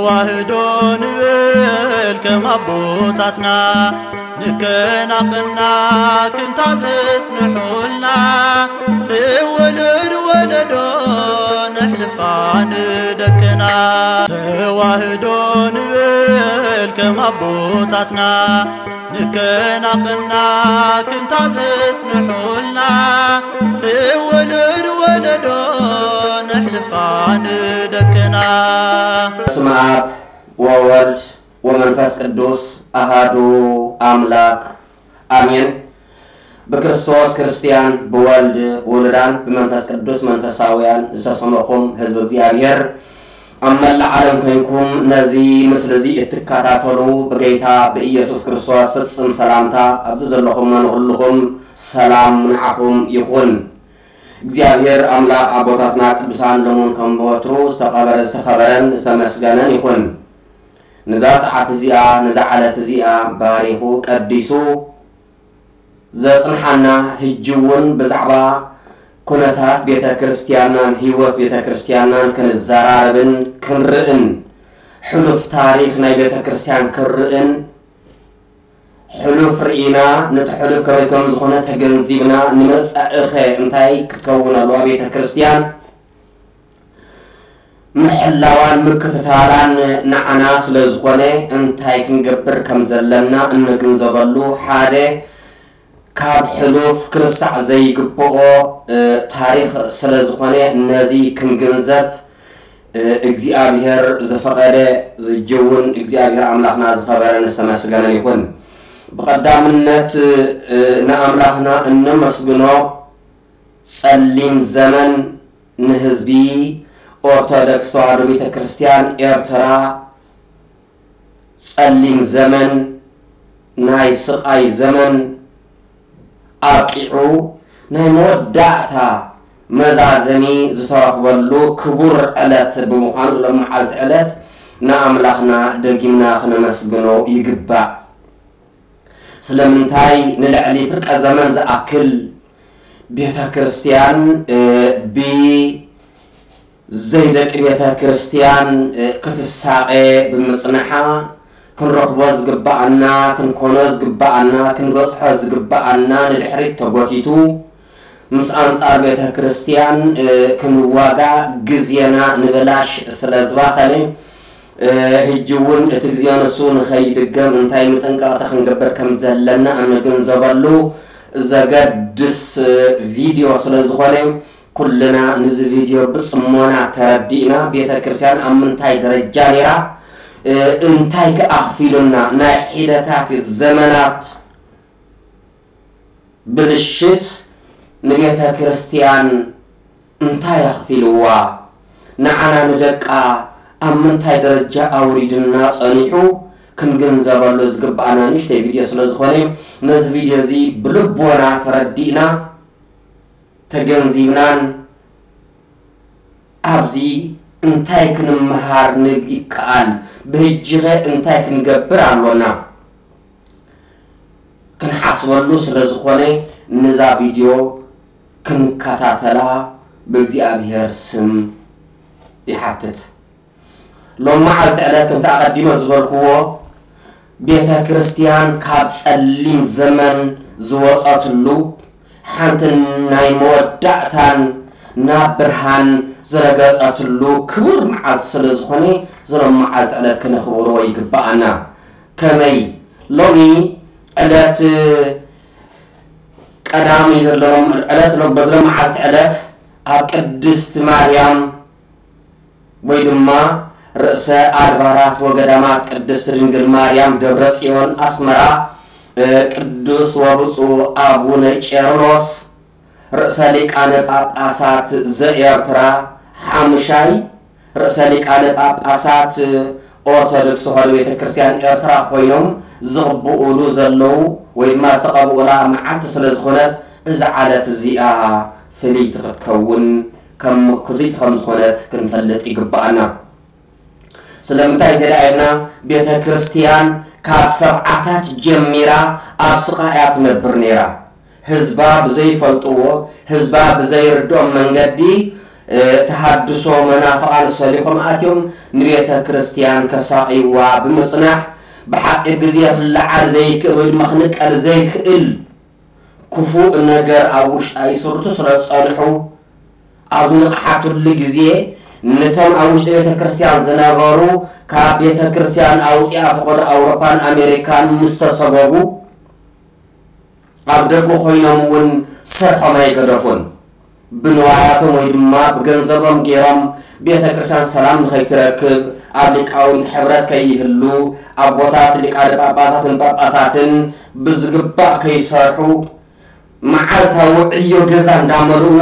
ተዋህዶ ንብል ከም ኣቦታትና ንከናኸና ክንታ ዘጽንሑልና ንወለድ ወለዶ ነሕልፋ ንደቅና። ተዋህዶ ንብል ከም ኣቦታትና ንከናኸና ክንታ ዘጽንሑልና ንወለድ ወለዶ ነሕልፋ ንደቅና። በስመ አብ ወወልድ ወመንፈስ ቅዱስ አሃዱ አምላክ አሜን። ብክርስቶስ ክርስቲያን፣ ብወልድ ውሉዳን፣ ብመንፈስ ቅዱስ መንፈሳውያን ዝተሰመኹም ህዝቢ እግዚኣብሔር፣ ኣብ መላእ ዓለም ኮይንኩም ነዚ ምስሊ እዚ እትከታተሉ ብጌታ ብኢየሱስ ክርስቶስ ፍጽም ሰላምታ ኣብዚ ዘለኹም ንኹልኹም ሰላም ንዓኹም ይኹን። እግዚኣብሔር ኣምላኽ ኣቦታትና ቅዱሳን ሎሙን ከም ወትሩ ዝተቐበረ፣ ዝተኸበረን ዝተመስገነን ይኹን። ነዛ ሰዓት እዚኣ፣ ነዛ ዕለት እዚኣ ባሪኹ ቀዲሱ ዘጽንሓና፣ ሕጂ እውን ብዛዕባ ኩነታት ቤተ ክርስቲያንናን ህይወት ቤተ ክርስቲያንናን ክንዘራረብን ክንርእን፣ ሕሉፍ ታሪኽ ናይ ቤተ ክርስቲያን ክንርእን፣ ሕሉፍ ርኢና፣ ነቲ ሕሉፍ ከመይ ከም ዝኾነ ተገንዚብና፣ ንመጻኢኸ እንታይ ክትከውን ኣለዋ ቤተ ክርስቲያን፣ ምሕላዋን ምክትታላን ንዓና ስለ ዝኾነ፣ እንታይ ክንገብር ከም ዘለና እንግንዘበሉ ሓደ ካብ ሕሉፍ ክርሳዕ ዘይግብኦ፣ እ፣ ታሪኽ ስለ ዝኾነ፣ ነዚ ክንግንዘብ፣ እ፣ እግዚኣብሔር ዝፈቐደ ዝጀውን እግዚኣብሔር ኣምላኽና ዝኸበረን ዝተመስገነን ይኹን። ብቐዳምነት፣ እ፣ ንኣምላኽና እነመስግኖ ጸሊም ዘመን ንህዝቢ ኦርቶዶክስ ተዋህዶ ቤተ ክርስቲያን ኤርትራ ጸሊም ዘመን፣ ናይ ስቓይ ዘመን ኣብቂዑ ናይ መወዳእታ መዛዘሚ ዝተረኽበሉ ክቡር ዕለት ብምዃኑ፣ ሎም መዓልቲ ዕለት ንኣምላኽና ደጊምና ክነመስግኖ ይግባእ። ስለምንታይ ንልዕሊ ፍርቀ ዘመን ዝኣክል ቤተ ክርስቲያን፣ እ፣ ብዘይደቂ ቤተ ክርስቲያን፣ እ፣ ክትሳቐ ብምጽንሓ፣ ክንረኽቦ ዝግብኣና፣ ክንኮኖ ዝግብኣና፣ ክንበጽሖ ዝግብኣና ንድሕሪት ተጎቲቱ፣ ምስ ኣንጻር ቤተ ክርስቲያን፣ እ፣ ክንዋጋ ግዜና ንብላሽ ስለ ዝባኸነ፣ እ፣ ሕጂ እውን እቲ ግዜ ንሱ ንኸይድገም እንታይ ምጥንቃቕታ ክንገብር ከም ዘለና እንግንዘበሉ ዘገድስ፣ እ፣ ቪድዮ ስለ ዝኾነ፣ ኩልና ነዚ ቪድዮ ብጽሞና ተረዲእና፣ ቤተ ክርስቲያን ኣብ ምንታይ ደረጃ ነይራ፣ እ፣ እንታይ ከ ኣኽፊሉና፣ ናይ ሒደታት ዘመናት ብልሽት ንቤተ ክርስቲያን እንታይ ኣኽፊልዋ፣ ንዓና ንደቃ ኣብ ምንታይ ደረጃ ኣውሪድና ጸኒሑ ክንግንዘበሉ ዝግብኣና ንእሽተይ ቪድዮ ስለ ዝኾነ፣ ነዚ ቪድዮ እዚ ብልቦና ተረዲእና፣ ተገንዚብናን፣ ኣብዚ እንታይ ክንመሃር ንግ-፣ ይከኣል፣ ብህጂኸ እንታይ ክንገብር ኣሎና ክንሓስበሉ ስለ ዝኾነ፣ ነዛ ቪድዮ ክንከታተላ ብእግዚኣብሔር ስም ይሓትት። ሎም መዓልቲ ዕለት፣ ከምቲ ኣቐዲመ ዝበልክዎ፣ ቤተ ክርስቲያን ካብ ጸሊም ዘመን ዝወጸትሉ፣ ሓንቲ ናይ መወዳእታን ናብ ብርሃን ዝረገጸትሉ ክቡር መዓልቲ ስለ ዝኾነ፣ እዚ ሎም መዓልቲ ዕለት ክነኽብሮ ይግብኣና። ከመይ? ሎሚ ዕለት ቀዳሚ ዘሎ ዕለት፣ ሎ-፣ በዚ ሎም መዓልቲ ዕለት ኣብ ቅድስቲ ማርያም ወይ ድማ ርእሰ ኣድባራት ወገዳማት ቅድስት ድንግል ማርያም ደብረ ጽዮን ኣስመራ፣ እ፣ ቅዱስ ወብፁዕ ኣቡነ ቄርሎስ ርእሰ ሊቃነ ጳጳሳት ዘኤርትራ ሓሙሻይ ርእሰ ሊቃነ ጳጳሳት ኦርቶዶክስ ተዋህዶ ቤተ ክርስቲያን ኤርትራ ኮይኖም ዝቕብኡሉ ዘለዉ ወይ ድማ ዝተቐብኡላ መዓልቲ ስለ ዝኾነት፣ እዛ ዕለት እዚኣ ፍልይቲ ክትከውን ከም ምክሪት ከም ዝኾነት ክንፈልጥ ይግብኣና። ስለምንታይ እንተ ደኣ ኢልና፣ ቤተ ክርስቲያን ካብ ሰብዓታት ጀሚራ ኣብ ስቓይ እያ ትነብር ነይራ። ህዝባ ብዘይፈልጥዎ፣ ህዝባ ብዘይርድኦም መንገዲ ተሃድሶ መናፍቓን ሰሊኾም ኣትዮም ንቤተ ክርስቲያን ከሳቕይዋ ብምጽናሕ፣ ብሓጺር ግዜ ክለዓል ዘይክእል ወይ ድማ ክንቀል ዘይክእል ክፉእ ነገር ኣብ ውሽጣ ይስርቱ ስለ ዝጸንሑ፣ ኣብ ዝነቕሓትሉ ግዜ፣ ነቶም ኣብ ውሽጢ ቤተ ክርስቲያን ዝነበሩ፣ ካብ ቤተ ክርስቲያን ኣውጺኣ ፍቕሪ ኣውሮፓን ኣሜሪካን ምስ ተሰጎጉ፣ ኣብ ደገ ኮይኖም እውን ስርሖም ኣይገደፉን። ብንዋያቶም ወይ ድማ ብገንዘቦም ገይሮም ቤተ ክርስቲያን ሰላም ንኸይትረክብ፣ ኣብ ሊቃውንቲ ሕብረት ከይህሉ፣ ኣቦታት ሊቃነ ጳጳሳትን ጳጳሳትን ብዝግባእ ከይሰርሑ፣ መዓልታዊ ዕዮ ገዛ እንዳመልኡ፣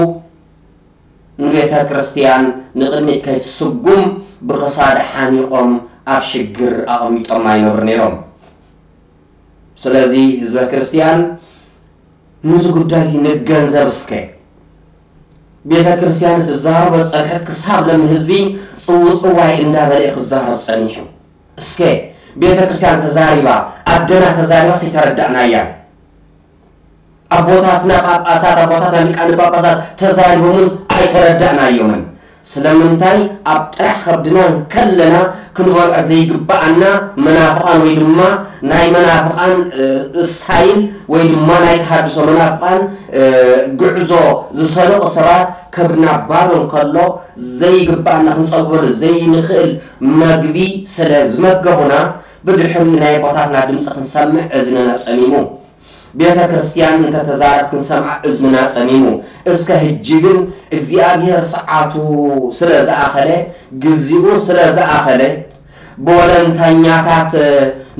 ንቤተ ክርስቲያን ንቕድሚት ከይትስጉም ብኽሳድ ሓኒቖም ኣብ ሽግር ኣቐሚጦም ኣይነብሩ ነይሮም። ስለዚ ህዝበ ክርስቲያን፣ ነዚ ጉዳይ እዚ ንገንዘብ እስከ። ቤተ ክርስቲያን ትዛረቦ ጸንሐት ክሳብ ሎም ህዝቢ ጽውጽዋይ እንዳበለ ክዛረብ ጸኒሑ። እስከ ቤተ ክርስቲያን ተዛሪባ፣ ኣደና ተዛሪባ፣ ሲተረዳእናያ። ኣቦታትና ጳጳሳት፣ ኣቦታትና ሊቃነ ጳጳሳት ተዛሪቦምን ኣይተረዳእናዮምን። ስለምንታይ? ኣብ ጥራሕ ከብድና እንከለና ክንበልዖ ዘይግብኣና መናፍቓን ወይ ድማ ናይ መናፍቓን፣ እ፣ ስታይል ወይ ድማ ናይ ተሃድሶ መናፍቓን፣ እ፣ ጉዕዞ ዝሰለቑ ሰባት ከብድና ባዶ እንከሎ ዘይግብኣና ክንጸግበሉ ዘይንኽእል መግቢ ስለ ዝመገቡና ብድሕሪኡ ናይ ኣቦታትና ድምፂ ክንሰምዕ እዝንና ጸሚሙ። ቤተ ክርስቲያን እንተተዛረብ ክንሰምዓ እዝንና ጸሚሙ። እስከ ህጂ ግን እግዚኣብሔር ሰዓቱ ስለ ዝኣኸለ፣ ግዚኡ ስለ ዝኣኸለ፣ ብወለንታኛታት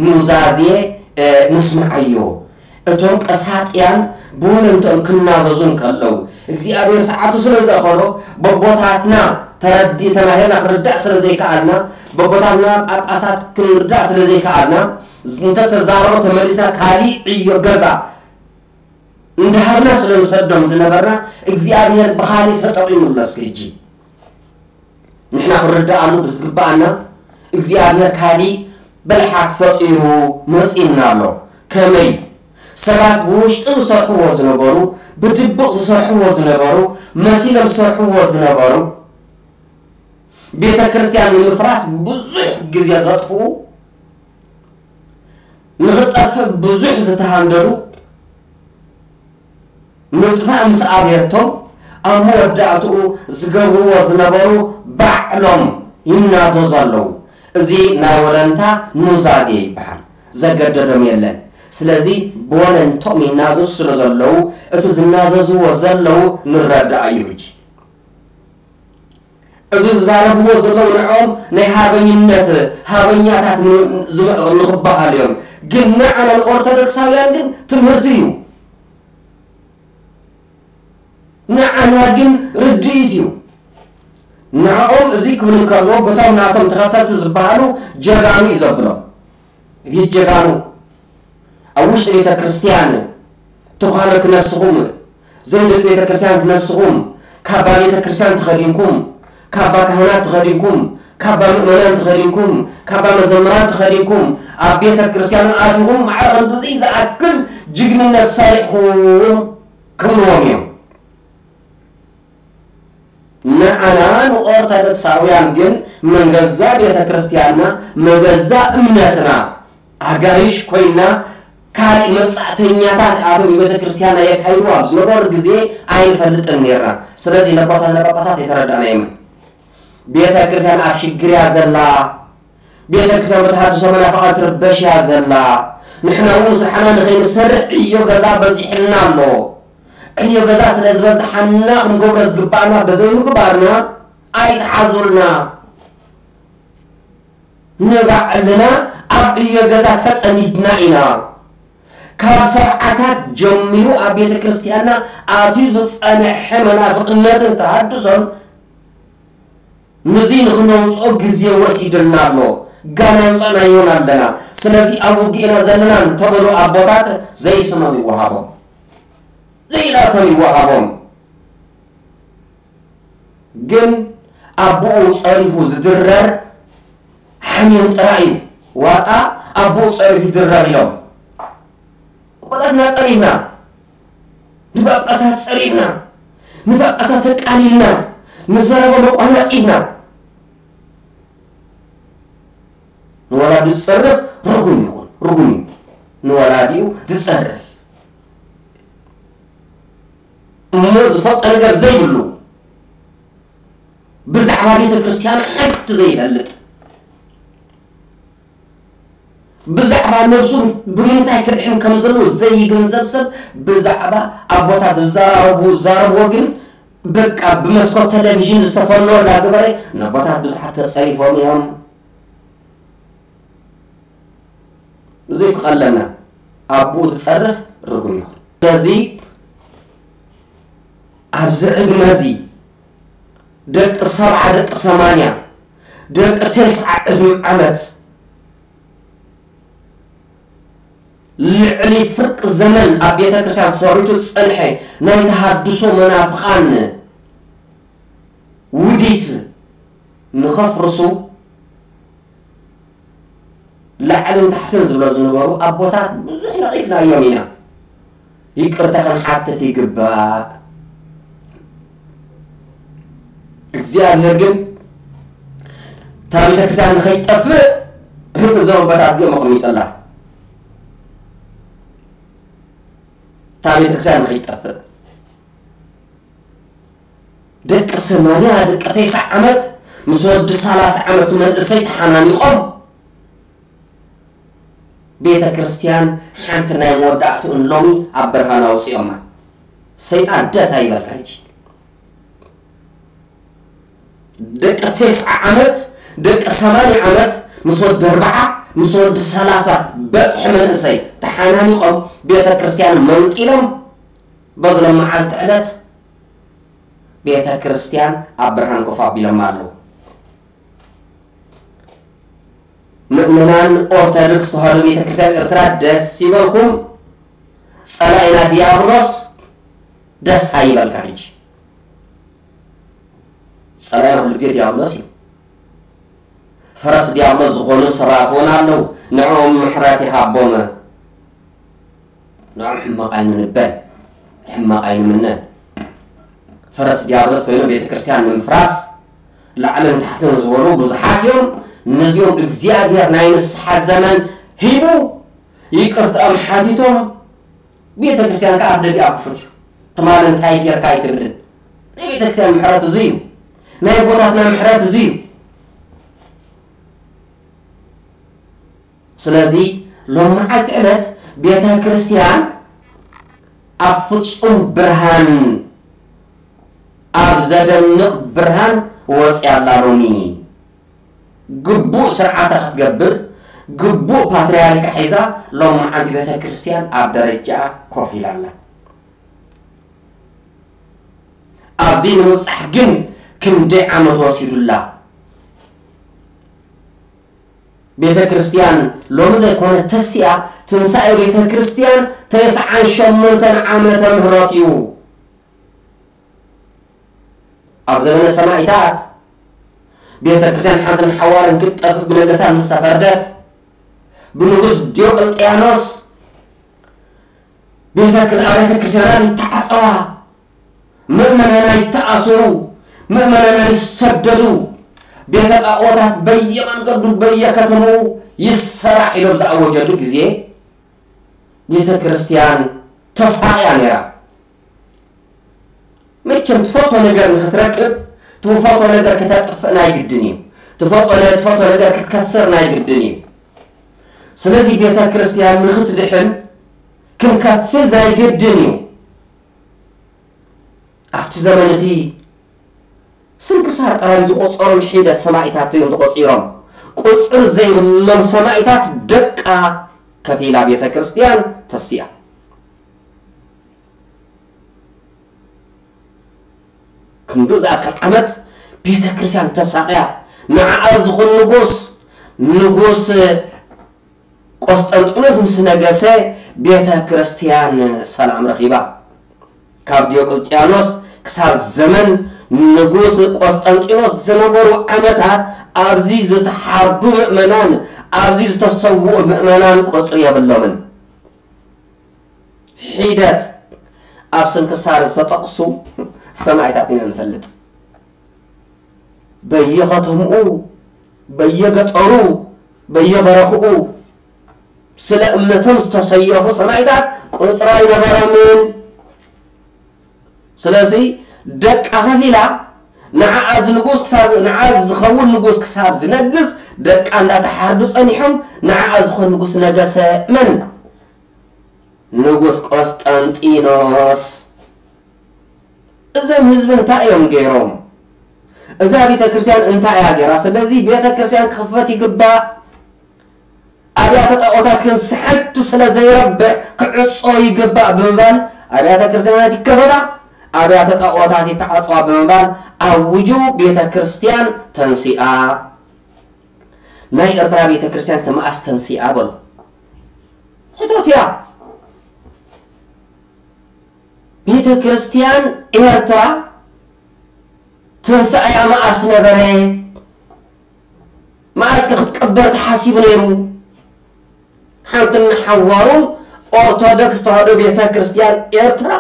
ኑዛዜ፣ እ፣ ንስምዓዮ። እቶም ቀሳጥያን ብወለንትኦም ክናዘዙ እንከለዉ፣ እግዚኣብሔር ሰዓቱ ስለ ዘእኸሎ፣ በቦታትና ተረዲ-፣ ተማሂርና ክንርዳእ ስለ ዘይከኣልና፣ በቦታትና ጳጳሳት ክንርዳእ ስለ ዘይከኣልና፣ እንተተዛረቦ ተመሊስና ካሊእ ዕዮ ገዛ እንዳሃብና ስለ ንሰዶም ዝነበርና፣ እግዚኣብሔር ብኻሊእ ተጠቒሙሉ። እስከ ሕጂ ንሕና ክንርድኣሉ ብዝግብኣና፣ እግዚኣብሔር ካሊእ ብልሓት ፈጢሩ መጺኡና ኣሎ። ከመይ? ሰባት ብውሽጢ ዝሰርሕዎ ዝነበሩ፣ ብድብቕ ዝሰርሕዎ ዝነበሩ፣ መሲሎም ዝሰርሕዎ ዝነበሩ፣ ቤተ ክርስቲያን ንምፍራስ ብዙሕ ግዜ ዘጥፍኡ፣ ንኽጠፍእ ብዙሕ ዝተሃንደዱ፣ ምጥፋእ ምስ ኣብየቶም፣ ኣብ መወዳእትኡ ዝገብርዎ ዝነበሩ ባዕሎም ይናዘዙ ኣለዉ። እዚ ናይ ወለንታ ኑዛዜ ይበሃል። ዘገደዶም የለን። ስለዚ ብወለንቶም ይናዘዙ ስለ ዘለዉ፣ እቲ ዝናዘዝዎ ዘለዉ ንረዳእ እዩ። ሕጂ እዚ ዝዛረብዎ ዘለዉ ንዕኦም ናይ ሃርበኝነት ሃርበኛታት ን-፣ ዝመ-፣ ንኽበሃሉ እዮም። ግን ንዓና ንኦርቶዶክሳውያን ግን ትምህርቲ እዩ። ንዓና ግን ርድኢት እዩ። ንዕኦም እዚ ክብሉ እንከለዉ፣ በቶም ናቶም ተኸተልቲ ዝበሃሉ ጀጋኑ እዩ ዘብሎም። ይጀጋኑ ኣብ ውሽጢ ቤተ ክርስቲያን ተዃነ ክነስኹም፣ ዘይደቂ ቤተ ክርስቲያን ክነስኹም፣ ካባ ቤተ ክርስቲያን ተኸዲንኩም፣ ካባ ካህናት ተኸዲንኩም፣ ካባ ምእመናን ተኸዲንኩም፣ ካባ መዘምራን ተኸዲንኩም፣ ኣብ ቤተ ክርስቲያን ኣቲኹም ማዕረ ክንድዚ ዝኣክል ጅግንነት ሰሪሕኹም ክብልዎም እዮም። ንዓና ንኦርቶዶክሳውያን ግን መን ገዛ ቤተ ክርስቲያንና፣ መን ገዛ እምነትና ኣጋይሽ ኮይና፣ ካልእ መጻእተኛታት ኣቶም ቤተ ክርስቲያንና የካይዱ ኣብ ዝነበሩ ግዜ ኣይንፈልጥን ነርና። ስለዚ ነቦታትና ጳጳሳት የተረዳእናዮም። ቤተ ክርስቲያን ኣብ ሽግር እያ ዘላ። ቤተ ክርስቲያን ብተሃድሶ መናፍቓን ትርበሽ እያ ዘላ። ንሕና እውን ስርሓና ንኸይንሰርሕ ዕዮ ገዛ በዚሕልና ኣሎ። ዕዮ ገዛ ስለ ዝበዝሓና ክንገብሮ ዝግባእና በዘይምግባርና ኣይትሓዙልና። ንባዕልና ኣብ ዕዮ ገዛ ተጸሚድና ኢና። ካብ ሰብዓታት ጀሚሩ ኣብ ቤተ ክርስቲያንና ኣትዩ ዝጸንሐ መናፍቕነትን ተሃድሶን ንዚ ንኽነውፅኦ ግዜ ወሲድልና ኣሎ። ጋና ኣውፃእናዮን ኣለና። ስለዚ ኣብ ውግእ ኢና ዘለና እንተበሉ ኣቦታት ዘይስሞም ይወሃቦም። ዘይላቶም ይወሃቦም። ግን ኣቦኡ ፀሪፉ ዝድረር ሓሚም ጥራይ እዩ። ዋጣ ኣቦኡ ፀሪፉ ይድረር ኢሎም። ኣቦታትና ፀሪፍና፣ ንጳጳሳት ፀሪፍና፣ ንጳጳሳት ተቃሊልና፣ ንዘረቦም ኣቋናጺብና። ንወላዲ ዝጸርፍ ርጉም ይኹን፣ ርጉም እዩ። ንወላዲኡ ዝጸርፍ እሞ ዝፈልጦ ነገር ዘይብሉ፣ ብዛዕባ ቤተ ክርስቲያን ሓንቲ ዘይፈልጥ፣ ብዛዕባ ነብሱ ብምንታይ ክድሕን ከም ዘለዎ ዘይግንዘብ ሰብ፣ ብዛዕባ ኣቦታት ዝዘራረቡ ዝዛረብዎ ግን በቃ ብመስኮት ቴሌቪዥን ዝተፈነወ እንዳገበረ፣ ነቦታት ብዙሓት ተጸሪፎም እዮም። እዚ ክቐለና ኣብኡ ዝጸርፍ ርጉም ይኹን። ስለዚ ኣብዚ ዕድመ እዚ ደቂ ሰብዓ፣ ደቂ ሰማንያ፣ ደቂ ተስዓ ዕድመ ዓመት ልዕሊ ፍርቂ ዘመን ኣብ ቤተ ክርስቲያን ሰሪቱ ዝጸንሐ ናይ ተሃድሶ መናፍቓን ውዲት ንኸፍርሱ ላዕልን ታሕትን ዝብሎ ዝነበሩ ኣቦታት ብዙሕ ነቒፍናዮም ኢና። ይቅርታ ክንሓትት ይግባእ። እግዚኣብሔር ግን እታ ቤተክርስትያን ንኸይጠፍእ እዞም ኣቦታት እዚኦም ኣቐሚጡላ። እታ ቤተክርስትያን ንኸይጠፍእ ደቂ ሰማንያ ደቂ ተስዓ ዓመት ምስ ወዲ ሰላሳ ዓመት መንእሰይ ተሓናኒቖም ቤተ ክርስቲያን ሓንቲ ናይ መወዳእትኡን ሎሚ ኣብ ብርሃን ኣውፂኦማ። ሰይጣን ደስ ኣይበልካ ሕጂ። ደቂ ተስዓ ዓመት ደቂ ሰማንያ ዓመት ምስ ወዲ ኣርብዓ ምስ ወዲ ሰላሳ በፅሒ መንእሰይ ተሓናኒቖም ቤተ ክርስቲያን መንጢሎም በዚ ሎም መዓልቲ ዕለት ቤተ ክርስቲያን ኣብ ብርሃን ኮፍ ኣቢሎም ኣለዉ። ምእመናን ኦርቶዶክስ ተዋህዶ ቤተ ክርስቲያን ኤርትራ ደስ ይበልኩም። ጸላኢና ዲያብሎስ ደስ ኣይበልካ። ሕጂ ጸላኢና ኩሉ ግዜ ዲያብሎስ እዩ። ፈረስ ዲያብሎስ ዝኾኑ ሰባት እውን ኣለዉ። ንዕኦም ምሕረት ይሃቦም። ንዕኦም ሕማቕ ኣይንበል፣ ሕማቕ ኣይንምነ። ፈረስ ዲያብሎስ ኮይኖም ቤተ ክርስቲያን ንምፍራስ ላዕልን ታሕትን ዝበሉ ብዙሓት እዮም። ነዚኦም እግዚኣብሔር ናይ ንስሓ ዘመን ሂቡ ይቅርትኦም ሓቲቶም ቤተ ክርስቲያን ከዓ ኣፍ ደጊኣ ክፉት እዩ። ትማሊ እንታይ ጌርካ ኣይትብልን። ናይ ቤተ ክርስቲያን ምሕረት እዚ እዩ። ናይ ኣቦታትና ምሕረት እዚ እዩ። ስለዚ ሎም መዓልቲ ዕለት ቤተ ክርስቲያን ኣብ ፍጹም ብርሃን ኣብ ዘደንቕ ብርሃን ወፂያ ኣላ። ሎሚ ግቡእ ስርዓታ ክትገብር ግቡእ ፓትርያርካ ሒዛ ሎም መዓልቲ ቤተ ክርስቲያን ኣብ ደረጃ ኮፍ ኢላ ኣላ። ኣብዚ ንምብጻሕ ግን ክንደይ ዓመት ወሲዱላ? ቤተ ክርስቲያን ሎሚ ዘይኮነ ተሲኣ ትንሳኤ ቤተ ክርስቲያን ተስዓን ሸሞንተን ዓመተ ምህረት እዩ። ኣብ ዘመነ ሰማእታት ቤተ ክርስቲያን ሓንትን ሓዋርን ክትጠፍእ ብነገስታት ምስ ተፈርደት ብንጉስ ዲዮቅልጥያኖስ ቤተ ክርስ- ኣብያተ ክርስቲያናት ይተዓጸዋ፣ ምእመናና ይተኣሰሩ፣ ምእመናና ይሰደዱ፣ ቤተ ጣዖታት በየመንገዱ በየከተማኡ ይሰራሕ ኢሎም ዝኣወጀሉ ግዜ ቤተ ክርስቲያን ተሳቕያ ነይራ። መቸም ትፈቶ ነገር ንክትረክብ ትፈቶ ነገር ክተጥፍእ ናይ ግድን እዩ። ትፈቶ ነ- ትፈቶ ነገር ክትከስር ናይ ግድን እዩ። ስለዚ ቤተ ክርስቲያን ንክትድሕን ክንከፍል ናይ ግድን እዩ። ኣብቲ ዘመን እቲ ስንክሳር ጥራይ ዝቆጸሮም ሒደ ሰማእታት እዮም ተቆጺሮም። ቁጽሪ ዘይብሎም ሰማእታት ደቃ ከፊላ ቤተ ክርስቲያን ተሲኣ። ክንዱ ዝኣክል ዓመት ቤተ ክርስቲያን ተሳቕያ ንዓኣ ዝኹን ንጉስ ንጉስ ቆስጠንጢኖስ ምስ ነገሰ ቤተ ክርስቲያን ሰላም ረኺባ። ካብ ዲዮቅልጥያኖስ ክሳብ ዘመን ንጉስ ቆስጠንጢኖስ ዝነበሩ ዓመታት ኣብዚ ዝተሓርዱ ምእመናን ኣብዚ ዝተሰውኡ ምእመናን ቁፅሪ የብሎምን። ሒደት ኣብ ስንክሳር ዝተጠቕሱ ሰማእታት ኢና ንፈልጥ። በየኸተምኡ፣ በየገጠሩ፣ በየበረኽኡ ስለ እምነቶም ዝተሰየፉ ሰማዕታት ቁጽሪ ኣይነበሮምን። ስለዚ ደቃ ከፊላ ንዓኣ ዝንጉስ ክሳብ፣ ንዓኣ ዝኸውን ንጉስ ክሳብ ዝነግስ ደቃ እንዳተሓርዱ ጸኒሖም። ንዓኣ ዝኾን ንጉስ ነገሰ። መን? ንጉስ ቆስጠንጢኖስ። እዞም ህዝቢ እንታይ እዮም ገይሮም? እዛ ቤተ ክርስቲያን እንታይ እያ ገይራ? ስለዚ ቤተ ክርስቲያን ክኽፈት ይግባእ። ኣብያተ ጣዖታት ግን ስሕቱ ስለ ዘይረብሕ ክዕጾ ይግባእ ብምባል ኣብያተ ክርስቲያናት ይከፈታ፣ ኣብያተ ጣዖታት ይተዓጽዋ ብምባል ኣውጁ። ቤተ ክርስቲያን ተንሲኣ። ናይ ኤርትራ ቤተ ክርስቲያን ከ መኣስ ተንሲኣ በሉ? ሕቶት እያ። ቤተ ክርስቲያን ኤርትራ ትንሳኤያ መኣስ ነበረ? መኣስ ከ ክትቅበር ተሓሲቡ ነይሩ? ሓንቲ ንሓዋሩን ኦርቶዶክስ ተዋህዶ ቤተ ክርስቲያን ኤርትራ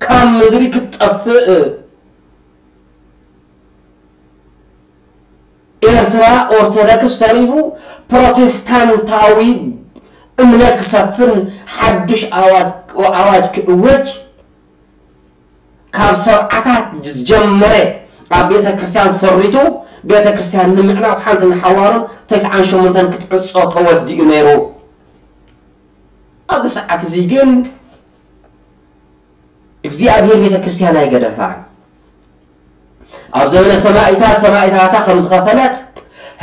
ካብ ምድሪ ክትጠፍእ፣ ኤርትራ ኦርቶዶክስ ተሪፉ ፕሮቴስታንታዊ እምነት ክሰፍን ሓዱሽ ኣዋጅ፣ ኣዋጅ ክእወጅ ካብ ሰብዓታት ዝጀመረ ኣብ ቤተ ክርስቲያን ሰሪቱ ቤተ ክርስቲያን ንምዕናው ሓንቲ ንሓዋሩን ተስዓን ሸሞንተን ክትዕጾ ተወዲኡ ነይሩ። ኣብዚ ሰዓት እዚ ግን እግዚኣብሔር ቤተ ክርስቲያን ኣይገደፋን። ኣብ ዘመነ ሰማኢታት ሰማኢታታ ከም ዝኸፈለት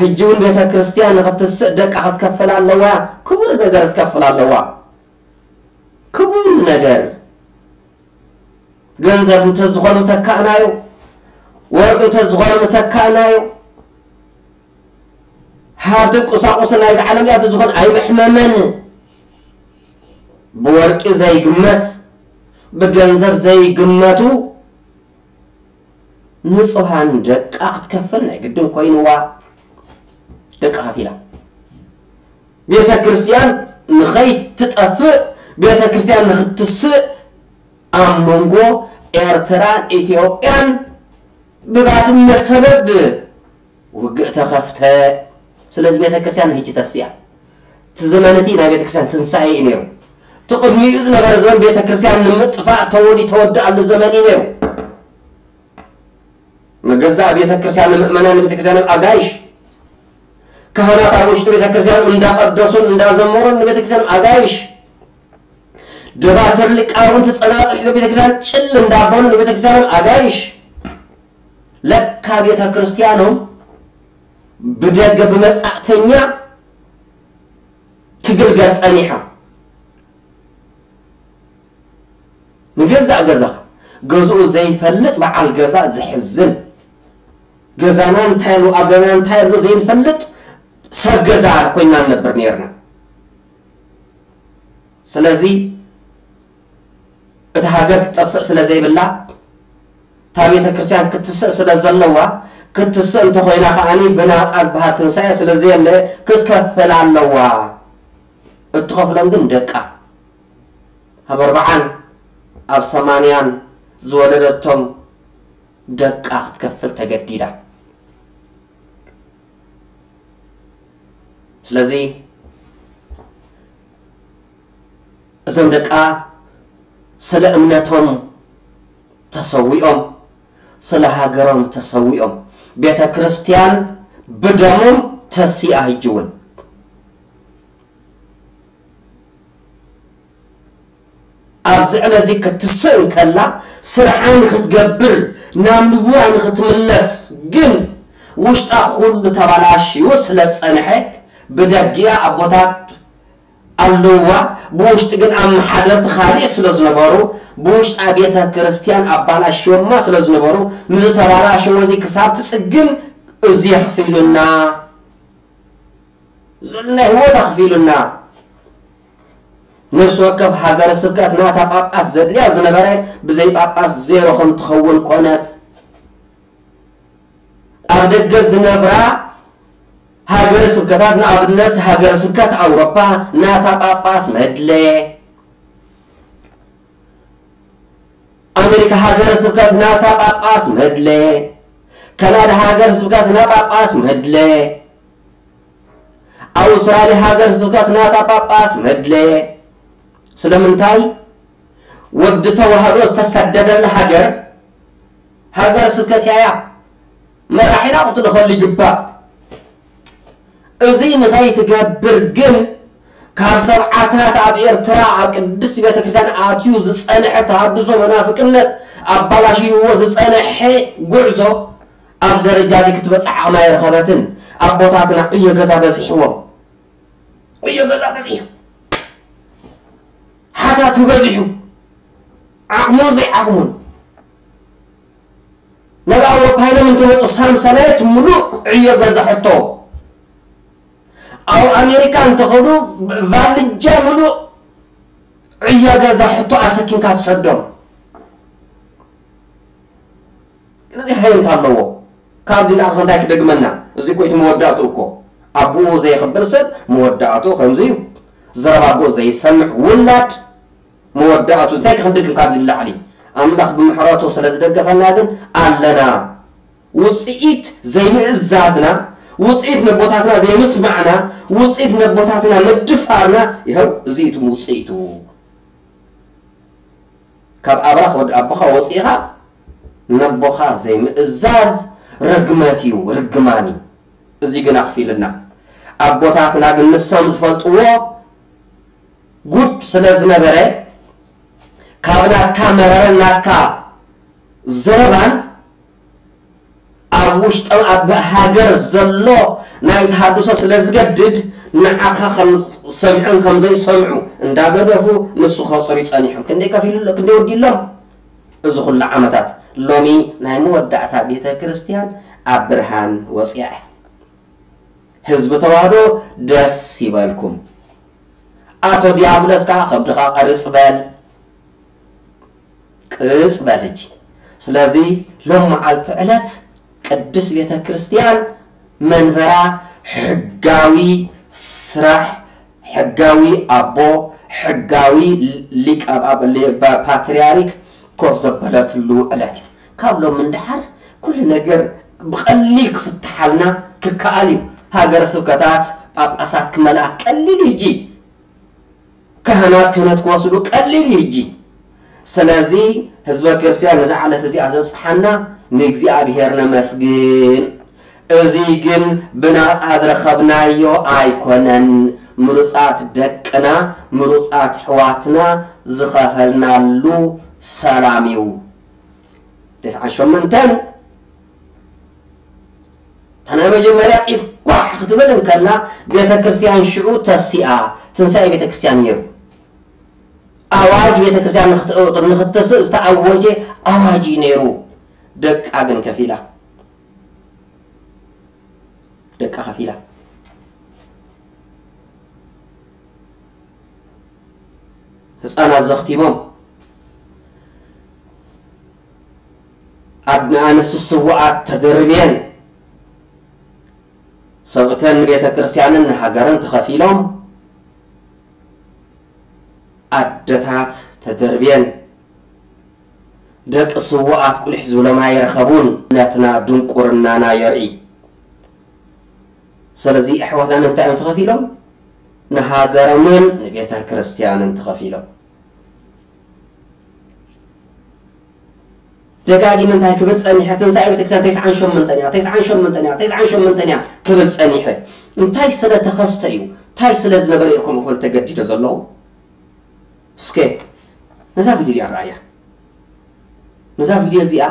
ሕጂ እውን ቤተ ክርስቲያን ንኽትስእ ደቃ ክትከፍል ኣለዋ። ክቡር ነገር ክትከፍል ኣለዋ። ክቡር ነገር። ገንዘብ እንተዝኾነ ምተካእናዮ፣ ወርቂ እንተዝኾነ ምተካእናዮ፣ ሃብትን ቁሳቁስን ናይዚ ዓለም እዚኣ እንተዝኾነ ኣይምሕመመን። ብወርቂ ዘይግመት፣ ብገንዘብ ዘይግመቱ ንጹሃን ደቃ ክትከፍል ናይ ግድን ኮይንዋ። ደቃ ከፊላ። ቤተ ክርስቲያን ንኸይትጠፍእ፣ ቤተ ክርስቲያን ንኽትስእ ኣብ መንጎ ኤርትራን ኢትዮጵያን ብባድመ ሰበብ ውግእ ተኸፍተ። ስለዚ ቤተ ክርስቲያን ሕጂ ተስያ። እቲ ዘመን እቲ ናይ ቤተ ክርስቲያን ትንሳኤ እዩ ነይሩ። እቲ ቅድሚኡ ዝነበረ ዘመን ቤተ ክርስቲያን ንምጥፋእ ተወዲ-፣ ተወድኣሉ ዘመን እዩ ነይሩ። መገዛእ ቤተ ክርስቲያን ንምእመናን ቤተ ክርስቲያን ኣጋይሽ፣ ካህናት ኣብ ውሽጢ ቤተ ክርስቲያን እንዳቐደሱን እንዳዘመሩን ንቤተ ክርስቲያን ኣጋይሽ፣ ደባትር ሊቃውንቲ ጸናጽል ሒዞም ቤተ ክርስቲያን ጭል እንዳበሉ ንቤተ ክርስቲያን ኣጋይሽ። ለካ ቤተ ክርስቲያኖም ብደገ ብመጻእተኛ ትግልገል ጸኒሓ። ንገዛእ ገዛኻ፣ ገዝኡ ዘይፈልጥ በዓል ገዛ ዘሕዝን። ገዛና እንታይ ኣሎ፣ ኣብ ገዛና እንታይ ኣሎ ዘይንፈልጥ ሰብ ገዛ ኮይና ንነብር ነይርና። ስለዚ እቲ ሃገር ክትጠፍእ ስለ ዘይብላ፣ እታ ቤተ ክርስቲያን ክትስእ ስለ ዘለዋ፣ ክትስእ እንተኾይና ከኣኒ ብናጻ ዝበሃል ትንሳኤ ስለ ዘየለ ክትከፍል ኣለዋ። እትኸፍሎም ግን ደቃ። ኣብ ኣርብዓን ኣብ ሰማንያን ዝወለደቶም ደቃ ክትከፍል ተገዲዳ። ስለዚ እዞም ደቃ ስለ እምነቶም ተሰዊኦም፣ ስለ ሃገሮም ተሰዊኦም፣ ቤተ ክርስቲያን ብደሞም ተሲኣ። ሕጂ እውን ኣብዚ ዕለት እዚ ክትስእ እንከላ ስርሓ ንክትገብር ናብ ንቡራ ንክትምለስ ግን ውሽጣ ኩሉ ተባላሽዩ ስለ ዝጸንሐ ብደጊኣ ኣቦታት ኣለዋ፣ ብውሽጢ ግን ኣመሓደርቲ ካልእ ስለ ዝነበሩ ብውሽጣ ቤተ ክርስቲያን ኣባላሽዮማ ስለ ዝነበሩ ንዝተባላሸወ እዚ ክሳብ ትጽግን እዚ ኣኽፊሉና። ዘሎ ህይወት ኣኽፊሉና። ነፍሲ ወከፍ ሃገረ ስብከት ናታ ጳጳስ ዘድልያ ዝነበረ ብዘይ ጳጳስ ዜሮ ከም ትኸውን ኮነት። ኣብ ደገ ዝነብራ ሃገረ ስብከታት፣ ንኣብነት ሃገረ ስብከት ኣውሮፓ ናታ ጳጳስ መድለ። ኣሜሪካ ሃገረ ስብከት ናታ ጳጳስ መድለ። ካናዳ ሃገር ስብከት ናታ ጳጳስ መድለ፣ ኣውስትራልያ ሃገር ስብከት ናታ ጳጳስ መድለ። ስለምንታይ? ወዲ ተዋህዶ ዝተሰደደላ ሃገር ሃገር ስብከት እያ። መራሒና ክትልኸሉ ይግባእ። እዚ ንኸይትገብር ግን ካብ ሰብዓታት ኣብ ኤርትራ ኣብ ቅድስቲ ቤተክርስትያን ኣትዩ ዝጸንሐ ተሃድሶ መናፍቅነት ኣባላሽይዎ ዝጸንሐ ጉዕዞ ኣብዚ ደረጃ እዚ ክትበጽሕ ዓቕሚ ኣይረኸበትን። ኣቦታትና ዕዮ ገዛ በዚሕዎም። ዕዮ ገዛ በዚሑ። ሓታቱ በዚሑ። ዓቕሙን ዘይዓቕሙን። ናብ ኣውሮፓ ኢሎም እንትመጹ ሳምሰናይት ምሉእ ዕዮ ገዛ ሕቶ። ኣብ ኣሜሪካ እንተኸዱ ቫልጃ ምሉእ ዕዮ ገዛ ሕቶ ኣሰኪምካ ትሰዶም። እዚ ሃይንት ኣለዎ። ካብዚ ንላዕሊ እንታይ ክደግመና? እዚ እኮ እቲ መወዳእቱ እኮ። ኣቦኡ ዘየኽብር ሰብ መወዳእቱ ከምዚ እዩ። ዘረባ ኣቦኡ ዘይሰምዕ ውላድ መወዳእቱ እንታይ ክንድግም ካብዚ ንላዕሊ? ኣምላኽ ብምሕረቱ ስለ ዝደገፈና ግን ኣለና። ውጽኢት ዘይምእዛዝና፣ ውጽኢት ነቦታትና ዘይምስማዕና፣ ውጽኢት ነቦታትና ምድፋርና፣ ይኸው እዚ እዩ እቲ ውጽኢቱ። ካብ ኣብራኽ ወዲ ኣቦኻ ወጺእኻ ነቦኻ ዘይምእዛዝ ርግመት እዩ፣ ርግማን እዩ። እዚ ግን ኣኽፊልና። ኣቦታትና ግን ንሶም ዝፈልጥዎ ጉድ ስለ ዝነበረ ካብ ናትካ መረረን ናትካ ዘረባን ኣብ ውሽጦም ኣብ ሃገር ዘሎ ናይ ተሃድሶ ስለ ዝገድድ ንዓኻ ከም ሰምዑን ከም ዘይሰምዑ እንዳገደፉ ንሱ ከጽሩ ጸኒሖም። ክንደይ ከፊሉ ኣሎ፣ ክንደይ ወዲሎም እዚ ኩሉ ዓመታት። ሎሚ ናይ መወዳእታ ቤተ ክርስቲያን ኣብ ብርሃን ወጽያ እያ። ህዝቢ ተዋህዶ ደስ ይበልኩም። ኣቶ ዲያብሎስ ከኣ ከብድኻ ቀርጽ በል። ቅርጽ በል ሕጂ። ስለዚ ሎም መዓልቲ ዕለት ቅድስት ቤተ ክርስቲያን መንበራ ሕጋዊ ስራሕ፣ ሕጋዊ ኣቦ፣ ሕጋዊ ሊቀ ፓትርያርክ ኮፍ ዘበለትሉ ዕለት እዩ። ካብ ሎም እንድሓር ኩሉ ነገር ብቐሊል ክፍትሓልና ክከኣል እዩ። ሃገረ ስብከታት ጳጳሳት ክመልኣ ቀሊል እዩ ሕጂ። ካህናት ክህነት ክወስዱ ቀሊል እዩ ሕጂ። ስለዚ ህዝበ ክርስቲያን ነዛ ዕለት እዚኣ ዘብጽሓና ንእግዚኣብሔር ነመስግን። እዚ ግን ብናጻ ዝረኸብናዮ ኣይኮነን። ምሩጻት ደቅና፣ ምሩጻት ኣሕዋትና ዝኸፈልናሉ ሰላም እዩ። ተስዓን ሸሞንተን እታ ናይ መጀመርያ ጥይት ኳሕ ክትብል እንከላ ቤተ ክርስቲያን ሽዑ ተሲኣ። ትንሳኤ ቤተ ክርስቲያን ነይሩ። ኣዋጅ ቤተ ክርስቲያን ንክት- ንክትስእ ዝተኣወጀ ኣዋጅ እዩ ነይሩ። ደቃ ግን ከፊላ። ደቃ ከፊላ። ህፃናት ዘኽቲሞም፣ ኣድ-፣ ንኣንስቲ ስውኣት ተደርብየን፣ ሰብእተን ንቤተ ክርስቲያንን ንሃገርን ተኸፊሎም፣ ኣደታት ተደርብየን፣ ደቂ ስውኣት ቁሊሕ ዝብሎም ኣይረኸቡን። እምነትና ድንቁርናና የርኢ። ስለዚ ኣሕዋትና ንምንታይ እዮም ተኸፊሎም? ንሃገሮምን ንቤተ ክርስቲያንን ተኸፊሎም። ደጋጊመ እንታይ ክብል ጸኒሐ? ትንሳኤ ቤተክርስትያን ተስዓን ሸሞንተን እያ፣ ተስዓን ሸሞንተን እያ፣ ተስዓን ሸሞንተን እያ ክብል ጸኒሐ። እንታይ ስለ ተኸስተ እዩ? እንታይ ስለ ዝነበረ እዩ ከምኡ ክብል ተገዲደ ዘለኹ? እስከ ነዛ ቪድዮ እዚኣ ረኣያ። ነዛ ቪድዮ እዚኣ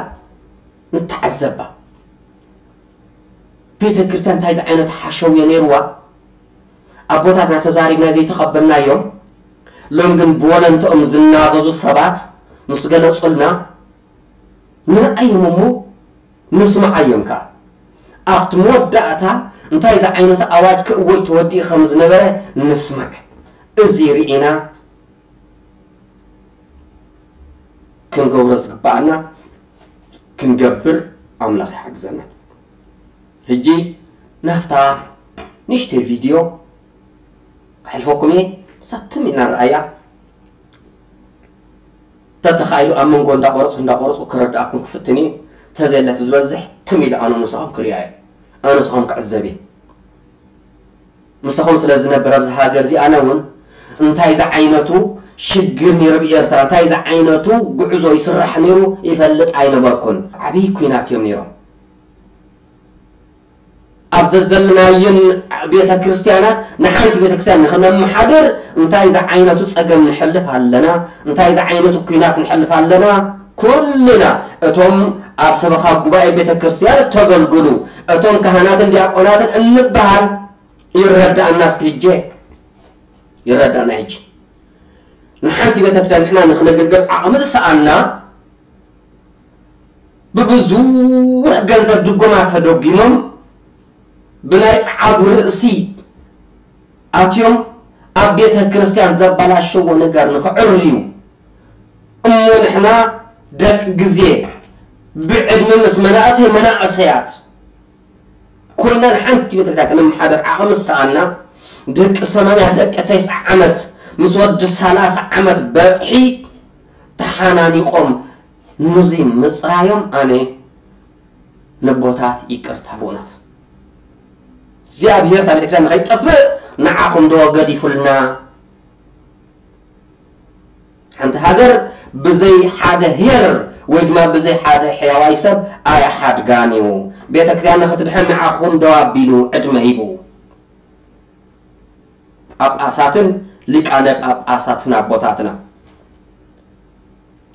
ንተዓዘባ። ቤተ ክርስቲያን እንታይ ዓይነት ሓሸውየ ነይርዋ? ኣቦታትና ተዛሪብና ዘይተቐበልናዮም፣ ሎም ግን ብወለንትኦም ዝናዘዙ ሰባት ምስ ገለጹልና ንርኣዮም እሞ ንስምዓዮም ከኣ። ኣብቲ መወዳእታ እንታይ ዝዓይነቱ ኣዋጅ ክእወጅ ተወዲኡ ከም ዝነበረ ንስማዕ። እዚ ርኢና ክንገብሮ ዝግባኣና ክንገብር ኣምላኽ ይሓግዘና። ሕጂ ናብታ ንእሽተይ ቪድዮ ከሕልፈኩም እየ። ሳትም ኢልና ንርኣያ። ተተኻኢሉ ኣብ መንጎ እንዳቆረጽኩ እንዳቆረጽኩ ከረድኣኩም ክፍትን እየ። ተዘየለት ዝበዝሕ ትም ኢሉ ኣነ ንስኹም ክሪኣ እየ። ኣነ ንስኹም ክዕዘብ እየ። ምሳኹም ስለ ዝነብር ኣብዚ ሃገር እዚ ኣነ እውን እንታይ ዝዓይነቱ ሽግር ነይሩ ብኤርትራ፣ እንታይ ዝዓይነቱ ጉዕዞ ይስራሕ ነይሩ ይፈልጥ ኣይነበርኩን። ዓብዪ ኲናት እዮም ነይሮም። ኣብ ዘዘለናየን ቤተ ክርስቲያናት ንሓንቲ ቤተ ክርስቲያን ንኽነመሓድር እንታይ ዝዓይነቱ ጸገም ንሕልፍ ኣለና፣ እንታይ ዝዓይነቱ ኲናት ንሕልፍ ኣለና። ኩልና እቶም ኣብ ሰበኻ ጉባኤ ቤተ ክርስቲያን እተገልግሉ እቶም ካህናትን ዲያቆናትን እንበሃል ይረዳእና እስኪ ሕጂ ይረዳእና። ሕጂ ንሓንቲ ቤተ ክርስቲያን ንሕና ንኽነገልግል ዓቕሚ ዝሰኣና ብብዙሕ ገንዘብ ድጎማ ተደጒሞም ብናይ ጸዓዱ ርእሲ ኣትዮም ኣብ ቤተ ክርስቲያን ዘበላሸዎ ነገር ንኽዕርዩ እሞ ንሕና ደቂ ግዜ ብዕድመ ምስ መናእሰይ መናእሰያት ኮይና ንሓንቲ ቤተ ክርስቲያን ከነመሓደር ዓቕሚ ዝሰኣና ደቂ ሰማንያ ደቂ ተስዓ ዓመት ምስ ወዲ ሰላሳ ዓመት በጽሒ ተሓናኒቖም ንዙይ ምጽራዮም ኣነ ነቦታት ይቅርታ ብእውነት እግዚኣብሔር ካብ ቤተክርስትያን ንኸይጠፍእ ንዓኹም ዶ ገዲፉልና? ሓንቲ ሃገር ብዘይ ሓደ ሄር ወይ ድማ ብዘይ ሓደ ሕያዋይ ሰብ ኣያሓድጋን እዩ። ቤተክርስትያን ንኽትድሕን ንዓኹም ደው ኣቢሉ ዕድመ ሂቡ። ጳጳሳትን ሊቃነ ጳጳሳትን ኣቦታትና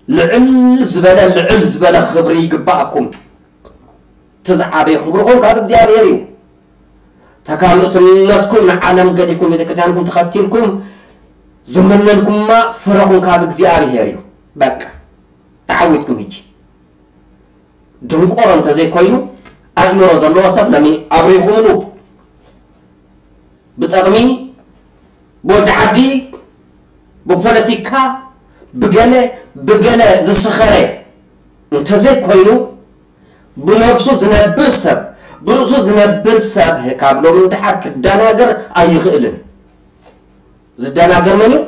ልዕል ዝበለ ልዕል ዝበለ ክብሪ ይግባኣኩም። እቲ ዝዓበየ ክብርኹም ካብ እግዚኣብሔር እዩ። ተካል ርእስነትኩም ንዓለም ገዲፍኩም ቤተክርስትያንኩም ተኸቲልኩም ዝምነንኩማ ፍረኹም ካብ እግዚኣብሔር እዩ። በቃ ተዓዊትኩም። ሕጂ ድንቆሮ እንተዘይኮይኑ ኣእምሮ ዘለዎ ሰብ ለሚ ኣብሪኹምሉ ብጠቕሚ ብወዲ ዓዲ ብፖለቲካ ብገለ ብገለ ዝስኸረ እንተዘይኮይኑ ብነብሱ ዝነብር ሰብ ብርእሱ ዝነብር ሰብ ካብ ሎም ንደሓር ክደናገር ኣይኽእልን። ዝደናገር መን እዩ?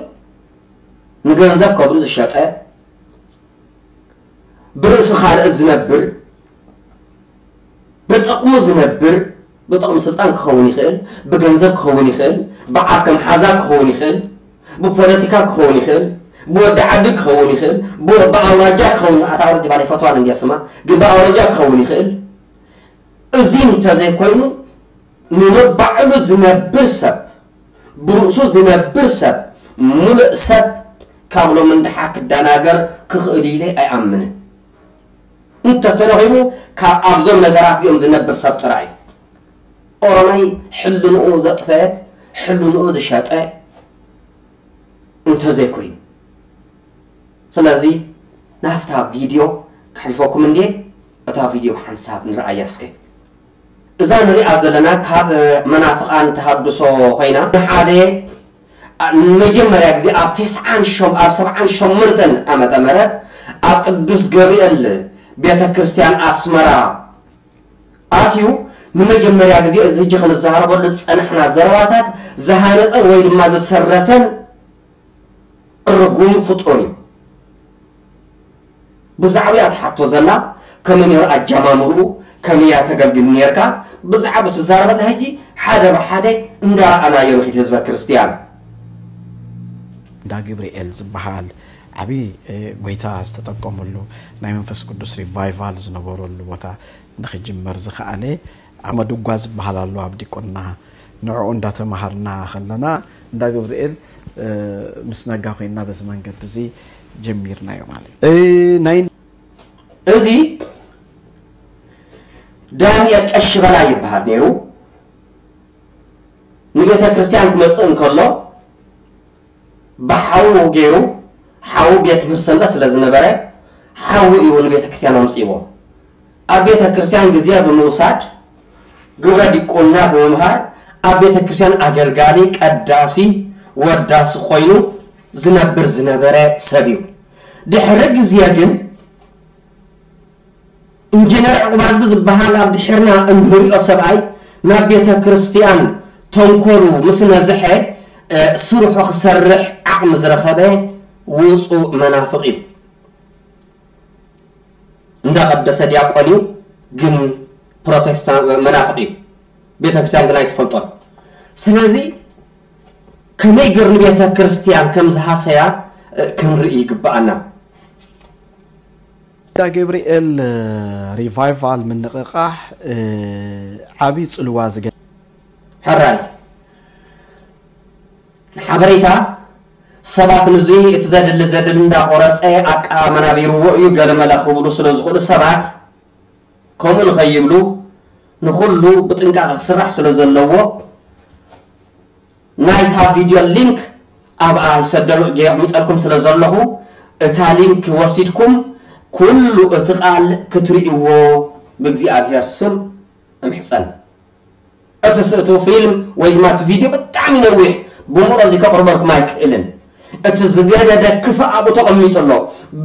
ንገንዘብ ከብሉ ዝሸጠ ብርእሲ ካልእ ዝነብር ብጥቕሙ ዝነብር ብጥቕሚ ስልጣን ክኸውን ይኽእል፣ ብገንዘብ ክኸውን ይኽእል፣ ብዓርከ መሓዛ ክኸውን ይኽእል፣ ብፖለቲካ ክኸውን ይኽእል፣ ብወዲ ዓዲ ክኸውን ይኽእል፣ ብኣውራጃ ክኸውን ይኽእል። ኣታ ኣውራጃ ባላ ይፈትዋን እንዲያ ስማ ግን ብኣውራጃ ክኸውን ይኽእል። እዚ እንተዘይኮይኑ ንነባዕሉ ዝነብር ሰብ ብርእሱ ዝነብር ሰብ ሙሉእ ሰብ ካብ ሎም ንደሓር ክደናገር ክኽእል ኢለ ኣይኣምንን። እንተተረኺቡ ካብ ኣብዞም ነገራት እዚኦም ዝነብር ሰብ ጥራይ እዩ። ኦሮማይ ሕልንኡ ዘጥፈ ሕልንኡ ዝሸጠ እንተዘይኮይኑ ስለዚ ናብታ ቪድዮ ከሕልፈኩም እንዴ እታ ቪድዮ ሓንሳብ ንረኣያ እስከ። እዛ ንሪኣ ዘለና ካብ መናፍቓን ተሃድሶ ኮይና ንሓደ ንመጀመርያ ግዜ ኣብ ተስዓን ሸም ኣብ ሰብዓን ሸሞንተን ዓመተ ምህረት ኣብ ቅዱስ ገብርኤል ቤተ ክርስቲያን ኣስመራ ኣትዩ ንመጀመርያ ግዜ እዚ ሕጂ ክንዛረበሉ ዝጸናሕና ዘረባታት ዝሃነጸን ወይ ድማ ዝሰረተን ርጉም ፍጡር እዩ። ብዛዕባኣ ትሓቶ ዘላ ከመይ ነይሩ ኣጀማምርኡ፣ ከመይ እያ ተገልግል ነርካ፣ ብዛዕባኡ ትዛረበላ ሕጂ ሓደ ብሓደ እንዳረኣናዮ ንኺድ ህዝበ ክርስትያን። እንዳ ግብርኤል ዝበሃል ዓብዪ ጎይታ ዝተጠቀመሉ ናይ መንፈስ ቅዱስ ሪቫይቫል ዝነበረሉ ቦታ ንክጅመር ዝኸኣለ ኣመድጓ ዝበሃል ኣሎ ኣብ ዲቁና ንዕኡ እንዳተማሃርና ከለና እንዳ ገብርኤል ምስ ነጋ ኮይንና በዚ መንገዲ እዚ ጀሚርናዮ ማለት እዩ። ናይ እዚ ዳንኤል ቀሺ በላይ ይበሃል ነይሩ። ንቤተ ክርስቲያን ክመጽእ እንከሎ ብሓዉ ገይሩ ሓዉ ቤት ትምህርቲ ሰንበት ስለ ዝነበረ ሓዉ እዩ ንቤተ ክርስቲያን ኣምጺእዎ። ኣብ ቤተ ክርስቲያን ግዜ ብምውሳድ ግብረ ዲቁና ብምምሃር ኣብ ቤተ ክርስቲያን ኣገልጋሊ፣ ቀዳሲ፣ ወዳሲ ኮይኑ ዝነብር ዝነበረ ሰብ እዩ። ድሕሪ ግዜ ግን ኢንጂነር ዕቑባዝጊ ዝበሃል ኣብ ድሒርና እንሪኦ ሰብኣይ ናብ ቤተ ክርስቲያን ተንኮሉ ምስ ነዝሐ ስርሑ ክሰርሕ ዓቕሚ ዝረኸበ ውፁእ መናፍቕ እዩ። እንዳቐደሰ ዲያቆን እዩ፣ ግን ፕሮቴስታንት መናፍቕ እዩ። ቤተክርስትያን ግን ኣይትፈልጦን። ስለዚ ከመይ ገር ንቤተ ክርስቲያን ከም ዝሃሰያ ክንርኢ ይግብኣና። እንዳ ገብርኤል ሪቫይቫል ምንቕቓሕ ዓብዪ ፅልዋ ዝገ ሕራይ ንሓበሬታ ሰባት ንዚ እቲ ዘድሊ ዘድሊ እንዳቆረፀ ኣቃ መናቢርዎ እዩ ገለመለ ክብሉ ስለ ዝኽእሉ ሰባት ከምኡ ንኸይብሉ ንኹሉ ብጥንቃቐ ክስራሕ ስለ ዘለዎ ናይታ ቪድዮ ሊንክ ኣብኣ ይሰደሉ የቕምጠልኩም ስለ ዘለኹ እታ ሊንክ ወሲድኩም ኩሉ እቲ ቃል ክትርእይዎ ብእግዚኣብሔር ስም እምሕፀን። እቲ ስእቱ ፊልም ወይ ድማ እቲ ቪድዮ ብጣዕሚ ነዊሕ ብምሮ እዚ ከቕርበልኩም ኣይክእልን። እቲ ዝገደደ ክፋእ ኣብኡ ተቐሚጡ ኣሎ።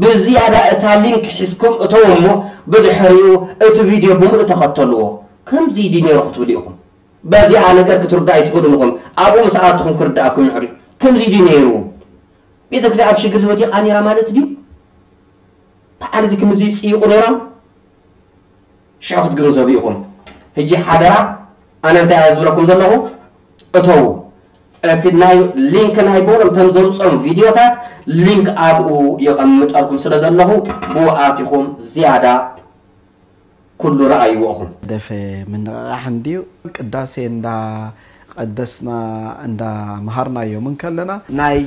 ብዝያዳ እታ ሊንክ ሒዝኩም እተው እሞ ብድሕሪኡ እቲ ቪድዮ ብምሉእ ተኸተልዎ። ከምዚ ድዩ ነይሩ ክትብሉ ኢኹም። በዚኣ ነገር ክትርዳእ ኣይትኽእሉን ኢኹም። ኣብኡ ምስ ኣትኹም ክርዳእኩም ይሕሪ። ከምዚ ድዩ ነይሩ? ቤተክርስትያን ኣብ ሽግር ወዲቓ ነይራ ማለት ድዩ? በዓል እዚ ከምዚ ይፅይቑ ነይሮም? ሽዑ ክትግንዘቡ ኢኹም። ሕጂ ሓደራ ኣነ እንታይ እየ ዝብለኩም ዘለኹ? እተው እቲ ናይ ሊንክ ናይ ቦሎም እቶም ዘምፅኦም ቪድዮታት ሊንክ ኣብኡ የቐምጠልኩም ስለ ዘለኹ ብኡ ኣቲኹም ዝያዳ ኩሉ ረኣይዎ ኢኹም። ደፈ ምንቕቓሕ እንድዩ ቅዳሴ እንዳ ቀደስና እንዳ መሃርናዮም እንከለና ናይ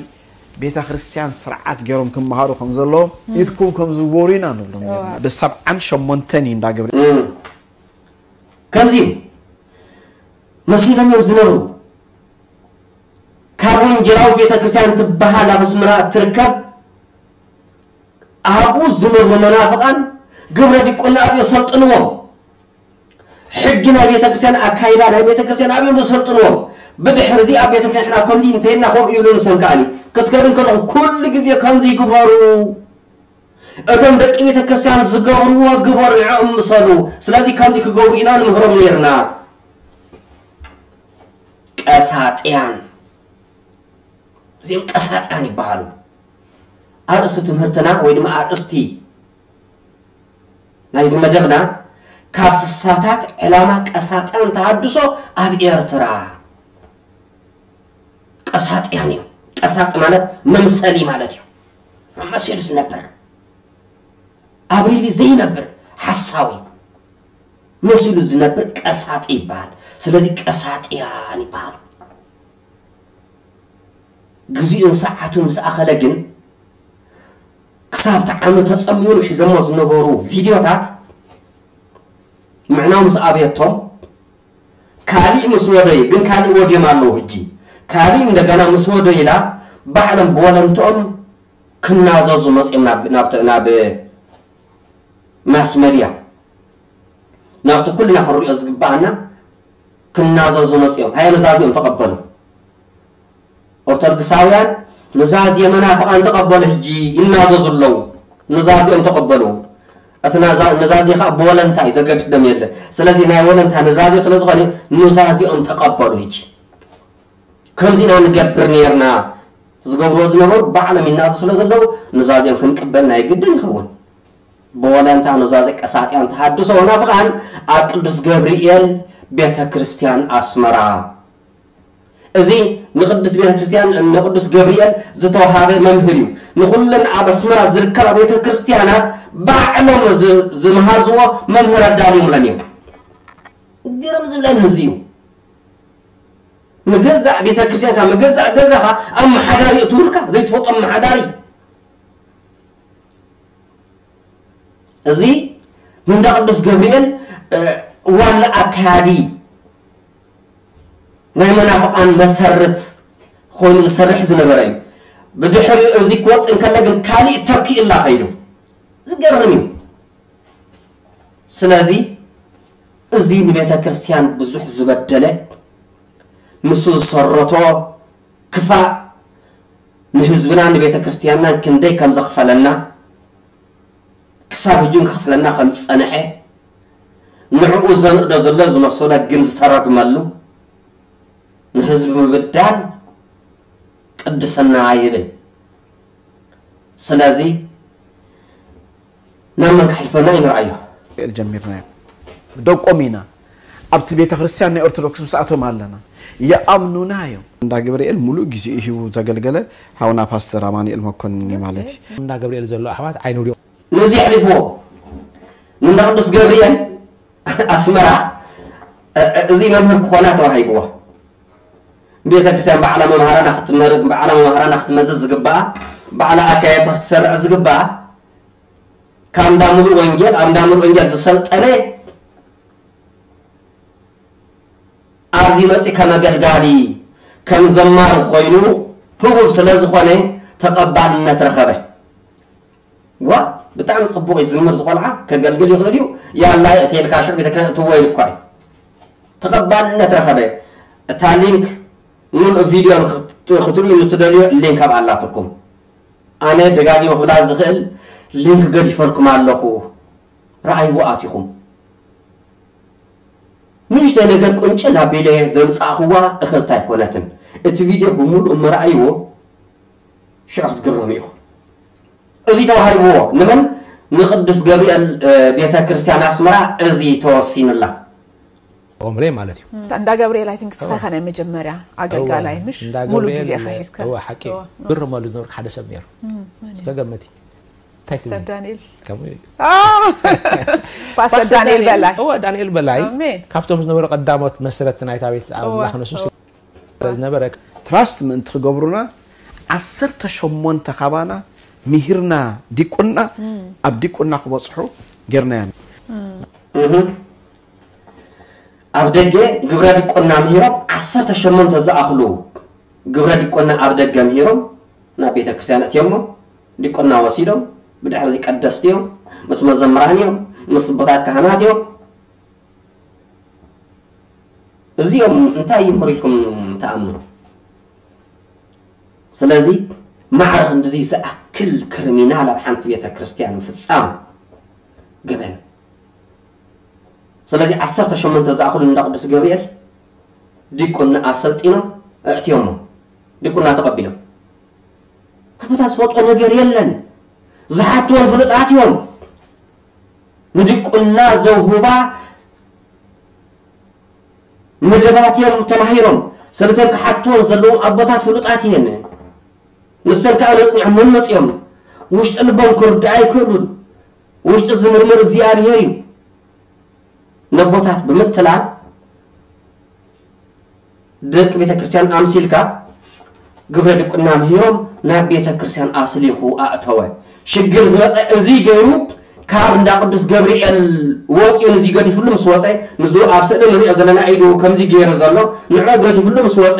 ቤተ ክርስቲያን ስርዓት ገይሮም ክመሃሩ ከም ዘለዎም ኢድኩም ከም ዝወሩ ኢና ንብሎም ነርና። ብሰብዓን ሸሞንተን እዩ እንዳ ገብረ እም። ከምዚ እዩ መሲሎም እዮም ዝነብሩ። ካብ ወንጌላዊ ቤተ ክርስቲያን ትበሃል ኣብ ኣስመራ እትርከብ ኣብኡ ዝነብሩ መናፍቃን ግብረ ዲቁና ኣብኡ የሰልጥንዎም። ሕጊ ናይ ቤተክርስትያን ኣካይዳ ናይ ቤተክርስትያን ኣብኡ ዘሰልጥንዎም። ብድሕሪ እዚ ኣብ ቤተክርስትያን ንሕና ከምዚ እንተይልና ከምኡ ይብሉ ንሶም ከኣኒ ክትከዱ እንከለኹም ኩሉ ግዜ ከምዚ ይግበሩ። እቶም ደቂ ቤተክርስትያን ዝገብርዎ ግበሩ ንዕኦም ምሰሉ። ስለዚ ከምዚ ክገብሩ ኢና ንምህሮም ነይርና። ቀሳጥያን እዚኦም ቀሳጥያን ይበሃሉ። ኣርእስቲ ትምህርትና ወይ ድማ ኣርእስቲ ናይዚ መደብና ካብ ስሳታት ዕላማ ቀሳጥያን ተሃድሶ ኣብ ኤርትራ ቀሳጥያን እዮም። ቀሳጢ ማለት መምሰሊ ማለት እዩ። መመሲሉ ዝነብር ኣብሪሊ ዘይነብር ሓሳዊ መሲሉ ዝነብር ቀሳጢ ይበሃል። ስለዚ ቀሳጥያን ይበሃሉ። ግዜኡን ሰዓቱን ምስ ኣኸለ ግን ክሳብ ተዓመ ተጸምዮም ሒዘሞ ዝነበሩ ቪድዮታት ምዕናው ምስ ኣብየቶም ካሊእ ምስ ወደዩ ግን ካሊእ ወድዮም ኣለዉ ሕጂ ካሊእ እንደገና ምስ ወደዩላ ባዕሎም ብወለንትኦም ክናዘዙ መፅዮም ናብ ናብ ናብ ማስ መድያ ናብቲ ኩልና ክንሪኦ ዝግባኣና ክናዘዙ መፅኦም ሃየ ኑዛዚኦም ተቐበሉ። ኦርቶዶክሳውያን ኑዛዜ መናፍቓን ተቐበሉ። ሕጂ ይናዘዙ ኣለዉ። ኑዛዚኦም ተቐበሉ። እቲ ኑዛዜ ከዓ ብወለንታ እዩ ዘገድዶም የለን። ስለዚ ናይ ወለንታ ኑዛዜ ስለ ዝኾነ ኑዛዚኦም ተቐበሉ። ሕጂ ከምዚ ኢና ንገብር ነርና ዝገብርዎ ዝነበሩ ባዕሎም ይናዙ ስለ ዘለዉ ኑዛዚኦም ክንቅበል ናይ ግድን ይኸውን። ብወለንታ ኑዛዜ ቀሳጢያን ተሃድሶ መናፍቓን ኣብ ቅዱስ ገብርኤል ቤተ ክርስቲያን ኣስመራ። እዚ ንቅዱስ ቤተ ክርስቲያን ንቅዱስ ገብርኤል ዝተወሃበ መምህር እዩ። ንኹለን ኣብ ኣስመራ ዝርከባ ቤተ ክርስቲያናት ባዕሎም ዝ- ዝመሃዝዎ መምህር ኣዳልዮምለን እዮም። ግርም ዝብለኒ እዚ እዩ። ንገዛእ ቤተ ክርስቲያንካ ንገዛእ ገዛኻ ኣመሓዳሪ እትብሉካ ዘይትፈልጦ ኣመሓዳሪ እዚ ንእንዳ ቅዱስ ገብርኤል ዋና ኣካያዲ ናይ መናፍቃን መሰርት ኮይኑ ዝሰርሕ ዝነበረ እዩ። ብድሕሪኡ እዚ ክወፅእ እንከሎ ግን ካሊእ ተኪኡላ ከይዱ ዝገርም እዩ። ስለዚ እዚ ንቤተ ክርስቲያን ብዙሕ ዝበደለ ንሱ ዝሰረቶ ክፋእ ንህዝብናን ንቤተ ክርስቲያንናን ክንደይ ከም ዘኽፈለና ክሳብ ሕጂ እውን ከኽፍለና ከም ዝጸንሐ ንዕኡ ዘንእዶ ዘሎ ዝመሰሎ ግን ዝተረግመሉ ንህዝቢ ምብዳል ቅድስና ኣይብል። ስለዚ ናብ መን ክሕልፈና እዩ ንርኣዮ። ገብርኤል ጀሚርናዮ። ደቆም ኢና። ኣብቲ ቤተ ክርስቲያን ናይ ኦርቶዶክስ ምስኣቶም ኣለና። ይኣምኑና እዮም። እንዳ ገብርኤል ሙሉእ ግዜኡ ሂቡ ዘገልገለ ሓውና ፓስተር ኣማኑኤል መኮንን እዩ ማለት እዩ። እንዳ ገብርኤል ዘሎ ኣሕዋት ዓይኒ ውዲቑ። ነዚ ኣሕሊፍዎ ንእንዳ ቅዱስ ገብርኤል ኣስመራ እዚ መምህር ክኾና ተዋሂብዎ። ቤተ ክርስቲያን ባዕላ መምሃራና ክትመርቅ ባዕላ መምሃራና ክትመዝዝ ዝግባኣ ባዕላ ኣካየድታ ክትሰርዕ ዝግባኣ ካብ እንዳ ሙሉእ ወንጌል ኣብ እንዳ ሙሉእ ወንጌል ዝሰልጠነ ኣብዚ መፂ ከም ኣገልጋሊ ከም ዘማሪ ኮይኑ ህቡብ ስለ ዝኾነ ተቐባልነት ረኸበ። ዋ ብጣዕሚ ፅቡቕ እዩ ዝምር ዝቆልዓ ከገልግል ይኽእል እዩ። ያላ እትየልካ ሽዑ ቤተክርስትያን እትዎ ኢሉ እኳ እዩ ተቐባልነት ረኸበ። እታ ሊንክ ሙሉእ ቪድዮ ክትርእዩ ንትደልዮ ሊንክ ኣብ ኣላትኩም። ኣነ ደጋጊመ ክብላ ዝኽእል ሊንክ ገዲፈልኩም ኣለኹ። ረኣይዎ ኣቲኹም። ንእሽተይ ነገር ቁንጭል ኣቢለ ዘምፃእኽዋ እኽልቲ ኣይኮነትን። እቲ ቪድዮ ብምሉእ ምረኣይዎ ሽዑ ክትግረሙ ኢኹም። እዚ ተዋሂብዎ ንመን? ንቅዱስ ገብርኤል ቤተ ክርስቲያን ኣስመራ እዚ ተወሲኑላ። ኦምሬ ማለት እዩ። እንዳ ገብርኤል ኣይ ቲንክ እስኻ ኢኻ ናይ መጀመርያ ኣገልጋላይ ምሽ? ሙሉ ግዜ ኢኻ ሒዝካ። እወ ሓቂ እዩ። ግርመሉ ዝነበርኩ ሓደ ሰብ ነይሩ። ተገመቲ። እንታይ ትብሊ? ፓስተር ዳንኤል። ከምኡ እዩ። ፓስተር ዳንኤል በላይ። እወ ዳንኤል በላይ ካብቶም ዝነበሩ ቀዳሞት መስረቲ ናይታ ቤት ኣምላኽ ንሱ ዝነበረ ትራስት ምእንቲ ክገብሩና ዓሰርተ ሸሞንተ ካባና ምሂርና ዲቁና ኣብ ዲቁና ክበፅሑ ጌርናያ። ኣብ ደገ ግብረ ዲቁና ምሂሮም ዓሰርተ ሸሞንተ ዝኣኽሉ ግብረ ዲቁና ኣብ ደገ ምሂሮም ናብ ቤተ ክርስቲያን እትዮሞ ዲቁና ወሲዶም ብድሕሪ ቀደስቲ እዮም ምስ መዘምራን እዮም ምስ ቦታት ካህናት እዮም እዚኦም እንታይ ይምህሩ ኢልኩም ትኣምኑ? ስለዚ ማዕረ ክንድዚ ዝኣክል ክርሚናል ኣብ ሓንቲ ቤተ ክርስቲያን ምፍጻም ገበን። ስለዚ ዓሰርተ ሸሞንተ ዝኣኽሉ እንዳ ቅዱስ ገብርኤል ዲቁና ኣሰልጢኖም ኣእትዮሞ ዲቁና ተቐቢሎም ኣቦታት ዝፈልጦ ነገር የለን ዝሓትዎም ፍሉጣት እዮም ንዲቁና ዘውህባ መደባት እዮም ተማሂሮም ስለተን ክሓትዎም ዘለዎም ኣቦታት ፍሉጣት እየን ንሰን ከዓ ነፅንዖም መን መፅኦም ውሽጢ ልቦም ክርድኣ ኣይክእሉን ውሽጢ ዝምርምር እግዚኣብሄር እዩ ነቦታት ብምትላል ደቂ ቤተክርስትያን ኣምሲልካ ግብረ ድቁና ምሂሮም ናብ ቤተክርስትያን ኣስሊኹ ኣእተወ። ሽግር ዝመፀ እዚ ገይሩ ካብ እንዳ ቅዱስ ገብርኤል ወፂኡ ንዚ ገዲፍሉ ምስ ወፀ ንዙ ኣብ ስእሊ ንሪኦ ዘለና ኢዱ ከምዚ ገይሩ ዘሎ ንዑ ገዲፍሉ ምስ ወፀ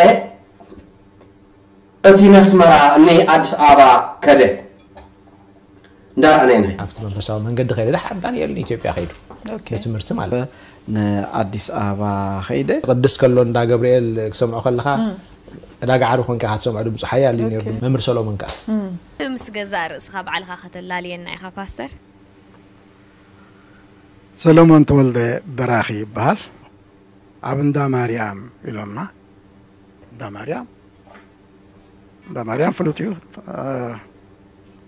እቲ ነስመራ እነይ ኣዲስ ኣበባ ከደ። እንዳረኣናዮ ናይ ኣብቲ መንፈሳዊ መንገዲ ከይደ ድሓር ዳንኤል ንኢትዮጵያ ከይዱ ንትምህርቲ ማለት ንኣዲስ ኣበባ ከይደ ቅድስ ከሎ እንዳ ገብርኤል ክሰምዖ ከለኻ ዕዳጋ ዓርቢ ኮንካ ኢኻ ትሰምዖ ድምፁ ሓያል እዩ ነይሩ መምህር ሰሎሞን ከዓ ምስ ገዛእ ርእስኻ ባዕልኻ ከተላልየና ኢኻ ፓስተር ሰሎሞን ተወልደ በራኺ ይበሃል ኣብ እንዳ ማርያም ኢሎምና እንዳ ማርያም እንዳ ማርያም ፍሉጥ እዩ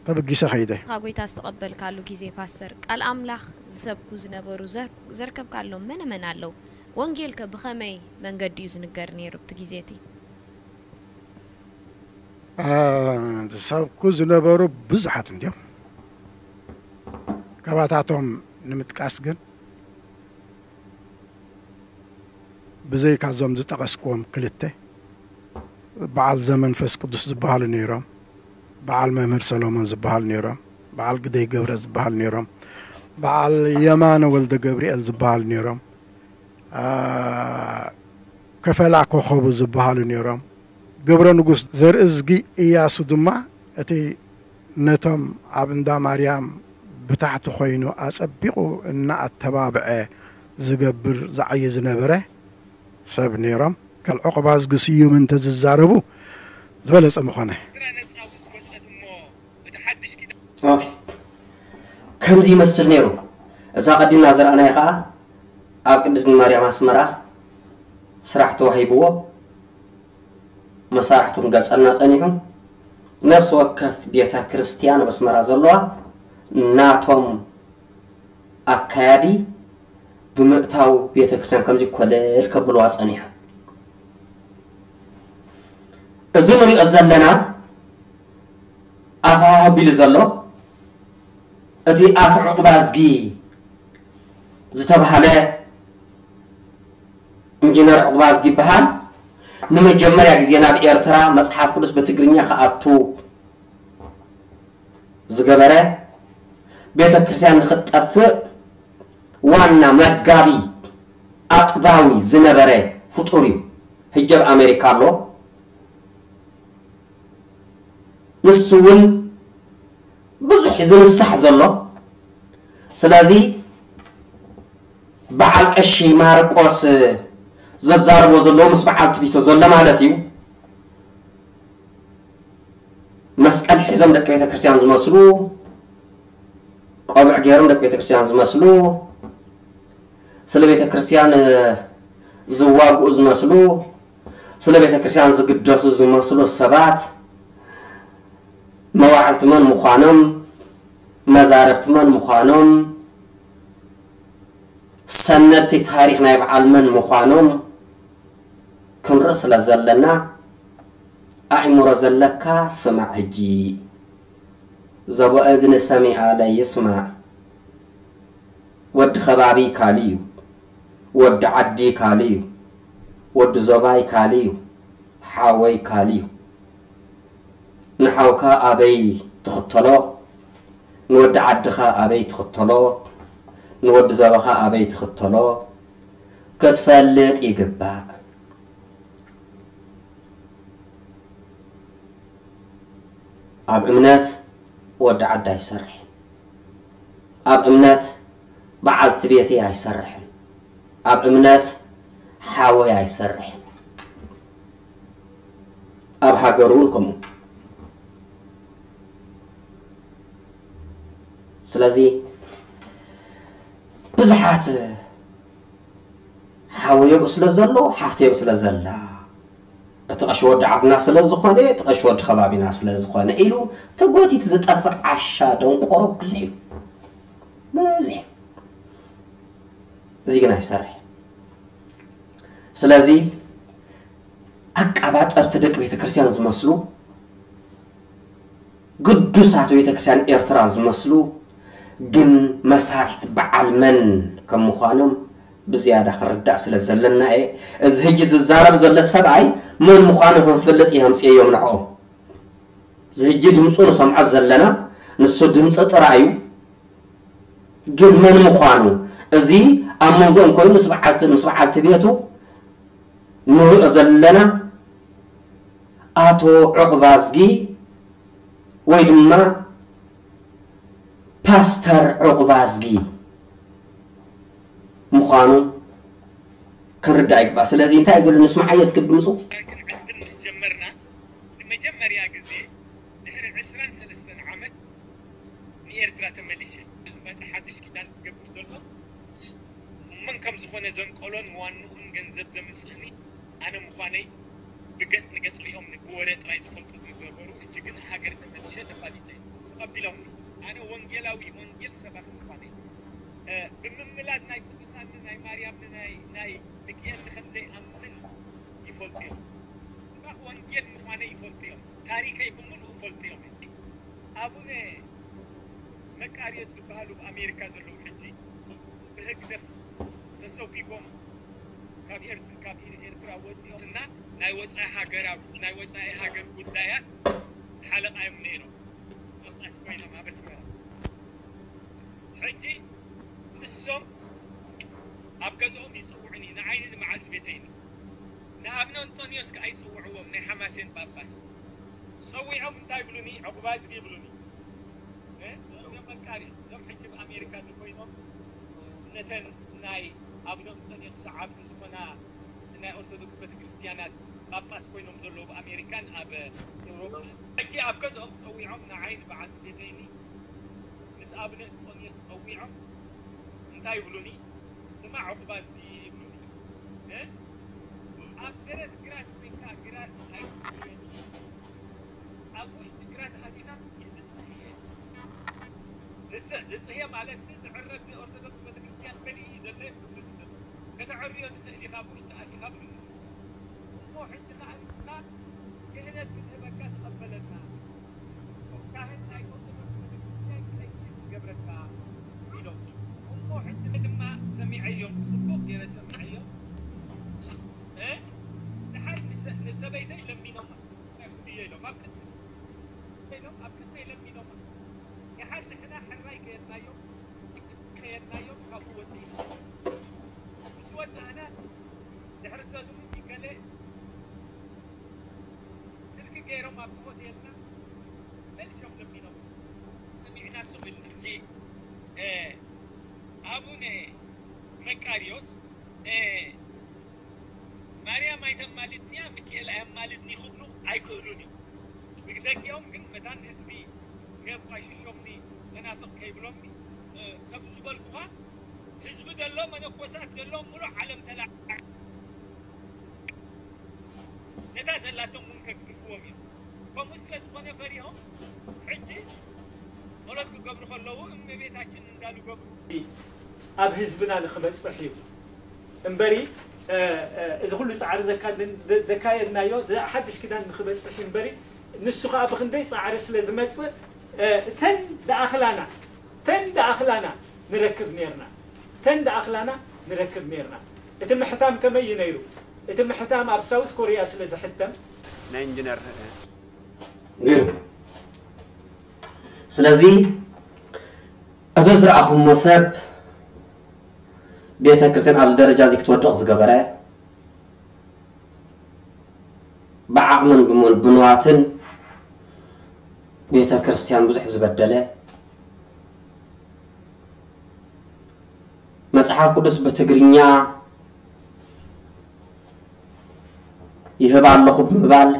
ተበጊሰ ከይደ እታ ጎይታ ዝተቐበልካሉ ግዜ ፓስተር ቃል ኣምላኽ ዝሰብኩ ዝነበሩ ዘርከብካሎም መነ መን ኣለዉ? ወንጌልከ ብኸመይ መንገዲ እዩ ዝንገር ነይሩ ኣብቲ ግዜ እቲ? ዝሰብኩ ዝነበሩ ብዙሓት እንድዮም ካባታቶም ንምጥቃስ ግን ብዘይካ እዞም ዝጠቐስክዎም ክልተ በዓል ዘመንፈስ ቅዱስ ዝበሃሉ ነይሮም፣ በዓል መምህር ሰሎሞን ዝበሃሉ ነይሮም፣ በዓል ግደይ ገብረ ዝበሃሉ ነይሮም፣ በዓል የማነ ወልደ ገብርኤል ዝበሃሉ ነይሮም፣ ከፈላ ኮኸቡ ዝበሃሉ ነይሮም። ገብረ ንጉስ ዘርእዝጊ እያሱ ድማ እቲ ነቶም ኣብ እንዳ ማርያም ብታሕቲ ኮይኑ ኣጸቢቑ እናኣተባብዐ ዝገብር ዝዓዪ ዝነበረ ሰብ ነይሮም። ከል ዑቕባዝጊ ስዩም እንተዝዛረቡ ዝበለጸ ምኾነ። ከምዚ ይመስል ነይሩ። እዛ ቀዲምና ዝረኣናዮ ኸኣ ኣብ ቅድስት ማርያም ኣስመራ ስራሕ ተዋሂብዎ መሳርሕቱ ክንገልጸልና ጸኒሑ ነፍሲ ወከፍ ቤተ ክርስቲያን ኣብ ኣስመራ ዘለዋ ናቶም ኣካያዲ ብምእታው ቤተ ክርስቲያን ከምዚ ኮለል ከብልዋ ጸኒሖም። እዚ ንሪኦ ዘለና ኣፋ ኣቢሉ ዘሎ እቲ ኣቶ ዕቑባዝጊ ዝተባህለ ኢንጂነር ዕቑባዝጊ ይበሃል። ንመጀመርያ ግዜ ናብ ኤርትራ መጽሓፍ ቅዱስ ብትግርኛ ክኣቱ ዝገበረ፣ ቤተ ክርስቲያን ንኽትጠፍእ ዋና መጋቢ ኣጥባዊ ዝነበረ ፍጡር እዩ። ሕጂ ኣብ ኣሜሪካ ኣሎ። ንሱ እውን ብዙሕ ዝንሳሕ ዘሎ። ስለዚ በዓል ቀሺ ማርቆስ ዘዛርቦ ዘለዎ ምስ በዓል ትቢቶ ዘሎ ማለት እዩ። መስቀል ሒዞም ደቂ ቤተ ክርስቲያን ዝመስሉ፣ ቆብዕ ገይሮም ደቂ ቤተ ክርስቲያን ዝመስሉ፣ ስለ ቤተ ክርስቲያን ዝዋግኡ ዝመስሉ፣ ስለ ቤተ ክርስቲያን ዝግደሱ ዝመስሉ ሰባት መዋዕልቲ መን ምዃኖም፣ መዛረብቲ መን ምዃኖም፣ ሰነድቲ ታሪኽ ናይ በዓል መን ምዃኖም ክንርኢ ስለ ዘለና፣ ኣእምሮ ዘለካ ስማዕ። ሕጂ ዘቦ እዝኒ ሰሚዐ ለይስማዕ። ወዲ ከባቢ ካልእ እዩ፣ ወዲ ዓዲ ካልእ እዩ፣ ወዲ ዞባይ ካልእ እዩ፣ ሓወይ ካልእ እዩ። ንሓውካ ኣበይ ትኽተሎ፣ ንወዲ ዓድኻ ኣበይ ትኽተሎ፣ ንወዲ ዞባኻ ኣበይ ትኽተሎ ክትፈልጥ ይግባእ። ኣብ እምነት ወዲ ዓዲ ኣይሰርሕን። ኣብ እምነት በዓልቲ ቤተይ ኣይሰርሕን። ኣብ እምነት ሓወይ ኣይሰርሕን። ኣብ ሃገር እውን ከምኡ። ስለዚ ብዙሓት ሓወይ ኣብኡ ስለ ዘሎ፣ ሓፍተይ ኣብኡ ስለ ዘላ፣ እቲ ቀሺ ወዲ ዓድና ስለ ዝኾነ፣ እቲ ቀሺ ወዲ ከባቢና ስለ ዝኾነ ኢሉ ተጎቲቱ ዝጠፍእ ዓሻ ደንቆሮ ብዙሕ እዩ። ብዙሕ እዩ። እዚ ግን ኣይሰርሕ። ስለዚ ኣቃባጠርቲ ደቂ ቤተ ክርስቲያን ዝመስሉ፣ ግዱሳት ቤተ ክርስቲያን ኤርትራ ዝመስሉ፣ ግን መሳርሕቲ በዓል መን ከም ምዃኖም ብዝያዳ ክርዳእ ስለ ዘለና እየ። እዚ ሕጂ ዝዛረብ ዘሎ ሰብኣይ መን ምዃኑ ክንፈልጥ እየ ኣምፅኤዮም ንዕኦም። እዚ ሕጂ ድምፁ ንሰምዖ ዘለና ንሱ ድምፂ ጥራይ እዩ። ግን መን ምዃኑ፣ እዚ ኣብ መንጎኦም ኮይኑ ምስ በዓልቲ፣ ምስ በዓልቲ ቤቱ ንሪኦ ዘለና ኣቶ ዑቕባዝጊ ወይ ድማ ፓስተር ዑቕባዝጊ ምዃኑ ክንርዳእ ይግባእ። ስለዚ እንታይ ይብል? ንስምዓዮ እስኪ ድምፁ። ክንዕድም ምስ ጀመርና፣ ንመጀመርያ ግዜ ድሕሪ ዕስራን ሰለስተን ዓመት ንኤርትራ ተመሊሸ። መጻ ሓድሽ ኪዳን ዝገብር ዘሎ፣ መን ከም ዝኾነ ዘንቀሎን ዋንኡን ገንዘብ ዘምጽእኒ ኣነ ምዃነይ ብገጽ ንገጽ ሪኦም ብወረ ጥራይ ዝፈልጡ ዝነበሩ፣ ሕጂ ግን ሃገር ተመልሸ ተፋሊጠ። ተቐቢሎምኒ። ኣነ ወንጌላዊ፣ ወንጌል ሰባኺ ምዃነይ፣ እ፣ ብምምላድ ናይ ቅዱሳን፣ ናይ ማርያም፣ ናይ፣ ናይ ሚካኤል ከም ዘይኣምን ይፈልጡ እዮም። ስባኽ ወንጌል ምዃነይ ይፈልጡ እዮም። ታሪኸይ ብምሉኡ ይፈልጡ እዮም። ኣቡነ መቃርዮስ ዝበሃሉ ኣብ ኣሜሪካ ዘለዉ ሕጂ ብህግደፍ ተሰጒጎም ካብ ኤርት-፣ ካብ ኤርትራ ወፂኦም እና ናይ ወፃኢ ሃገር፣ ኣብ ናይ ወፃኢ ሃገር ጉዳያት ሓለቓ እዮም ነይሮም። ጳጳስ ኮይኖም ኣብ ኣስመራ። ሕጂ ንሶም ኣብ ገዝኦም ይፅውዑኒ፣ ንዓይኒ ንመዓልቲ ቤተይኒ። ንኣብነ እንጦንዮስ ከኣ ይፅውዕዎም፣ ናይ ሓማሴን ጳጳስ። ጸዊዖም እንታይ ይብሉኒ? ዕቑባዝጊ ይብሉኒ። እ? እዞም መቃርዮስ፣ እዞም ሕጂ ኣብ ኣሜሪካ እንተኮይኖም፣ ነተን ናይ ኣቡነ እንጦንዮስ ሰዓብቲ ዝኾና ናይ ኦርቶዶክስ ቤተክርስትያናት ጳጳስ ኮይኖም ዘለዉ ኣብ ኣሜሪካን ኣብ ኤውሮጳን። ሕጂ ኣብ ገዝኦም ጸዊዖም ንዓይ ንበዓልቲ ቤተይኒ ምስ ኣቡነ እንጦንዮስ ጸዊዖም እንታይ ይብሉኒ? ስማዕ ዕቑባዝጊ ይብሉኒ። እ? ኣብ ደረት ግራት ኮይንካ ግራት ኣይትጉየኒ። ኣብ ውሽጢ ግራት ኣቲኻ ይስጥሕ እየ። ንስሕ ንጽህየ ማለት ዝዕረፍ ኦርቶዶክስ ቤተክርስትያን በሊ እዩ ዘሎ ይብሉ። ከተዕርዮ ትኽእል ኢኻ፣ ብውሽጢ ኣቲኻ ብሉ። እሞ ሕጂ ከኣ ንስኻ ክህነት ክትህበካ ተቐበለና። ካህን ናይ ኦርቶዶክስ ቤተክርስትያን ክለይስ ዝገብረካ ኢሎም። እሞ ሕጂ ድማ ሰሚዐዮም፣ ጽቡቕ ገይረ ሰሚዐዮም። እ? ደሓር ንሰ-፣ ንሰበይተይ ለሚኖማ። ጉድየ ኢሎም ኣብ ቅድሚ ኢሎም ኣብ ቅድሚ ለሚኖማ። ደሓር ንሕና ሕራይ ከየድናዮም፣ ከየድናዮም ካብኡ ወፂእና። ምስ ወፃእና ድሕሪ ሰሉሚ ገለ ስልኪ ገይሮም ኣብቲ ሆቴልና መሊሶም ለሚኖም። ሰሚዕና ስቕ ኢልና። እቲ፣ እ፣ ኣቡነ መቃርዮስ፣ እ፣ ማርያም ኣይተማልድንያ፣ ሚካኤል ኣየማልድኒ ክብሉ ኣይክእሉን እዮም። ብደጊኦም ግን መታን ህዝቢ ከየቋሽሾምኒ፣ መናፍቕ ከይብሎምኒ፣ እ፣ ከምዚ ዝበልኩኻ፣ ህዝቢ ዘሎ፣ መነኮሳት ዘሎ፣ ሙሉእ ዓለም ተላዒሉ ነታ ዘላቶም እውን ከግድፍዎም እዮም። ከምኡ ስለ ዝኾነ ፈሪሆም፣ ሕጂ ጸሎት ክገብሩ ከለዉ እመቤታችን እንዳሉ ገብሩ። ኣብ ህዝብና ንኽበጽሕ እዩ እምበሪ፣ እ፣ እ፣ እዚ ኩሉ ጻዕሪ ዘካ-፣ ዘካየድናዮ፣ እዚ ሓድሽ ኪዳን ንኽበጽሕ እዩ እምበሪ፣ ንሱ ኸኣ ብኽንደይ ጻዕሪ ስለ ዝመጽእ፣ እ፣ እተን ዝኣኽላና፣ እተን ዝኣኽላና ንረክብ ኔርና፣ እተን ዝኣኽላና ንረክብ ኔርና። እቲ ምሕታም ከመይ እዩ ነይሩ? እቲ ምሕታም ኣብ ሳውዝ ኮርያ ስለ ዝሕተም፣ ናይ ኢንጂነር ግን ስለዚ እዚ ዝረኣኹሞ ሰብ ቤተ ክርስቲያን ኣብዚ ደረጃ እዚ ክትወድቕ ዝገበረ፣ ብዓቕምን ብሞን ብንዋትን ቤተ ክርስቲያን ብዙሕ ዝበደለ፣ መጽሓፍ ቅዱስ ብትግርኛ ይህብ ኣለኹ ብምባል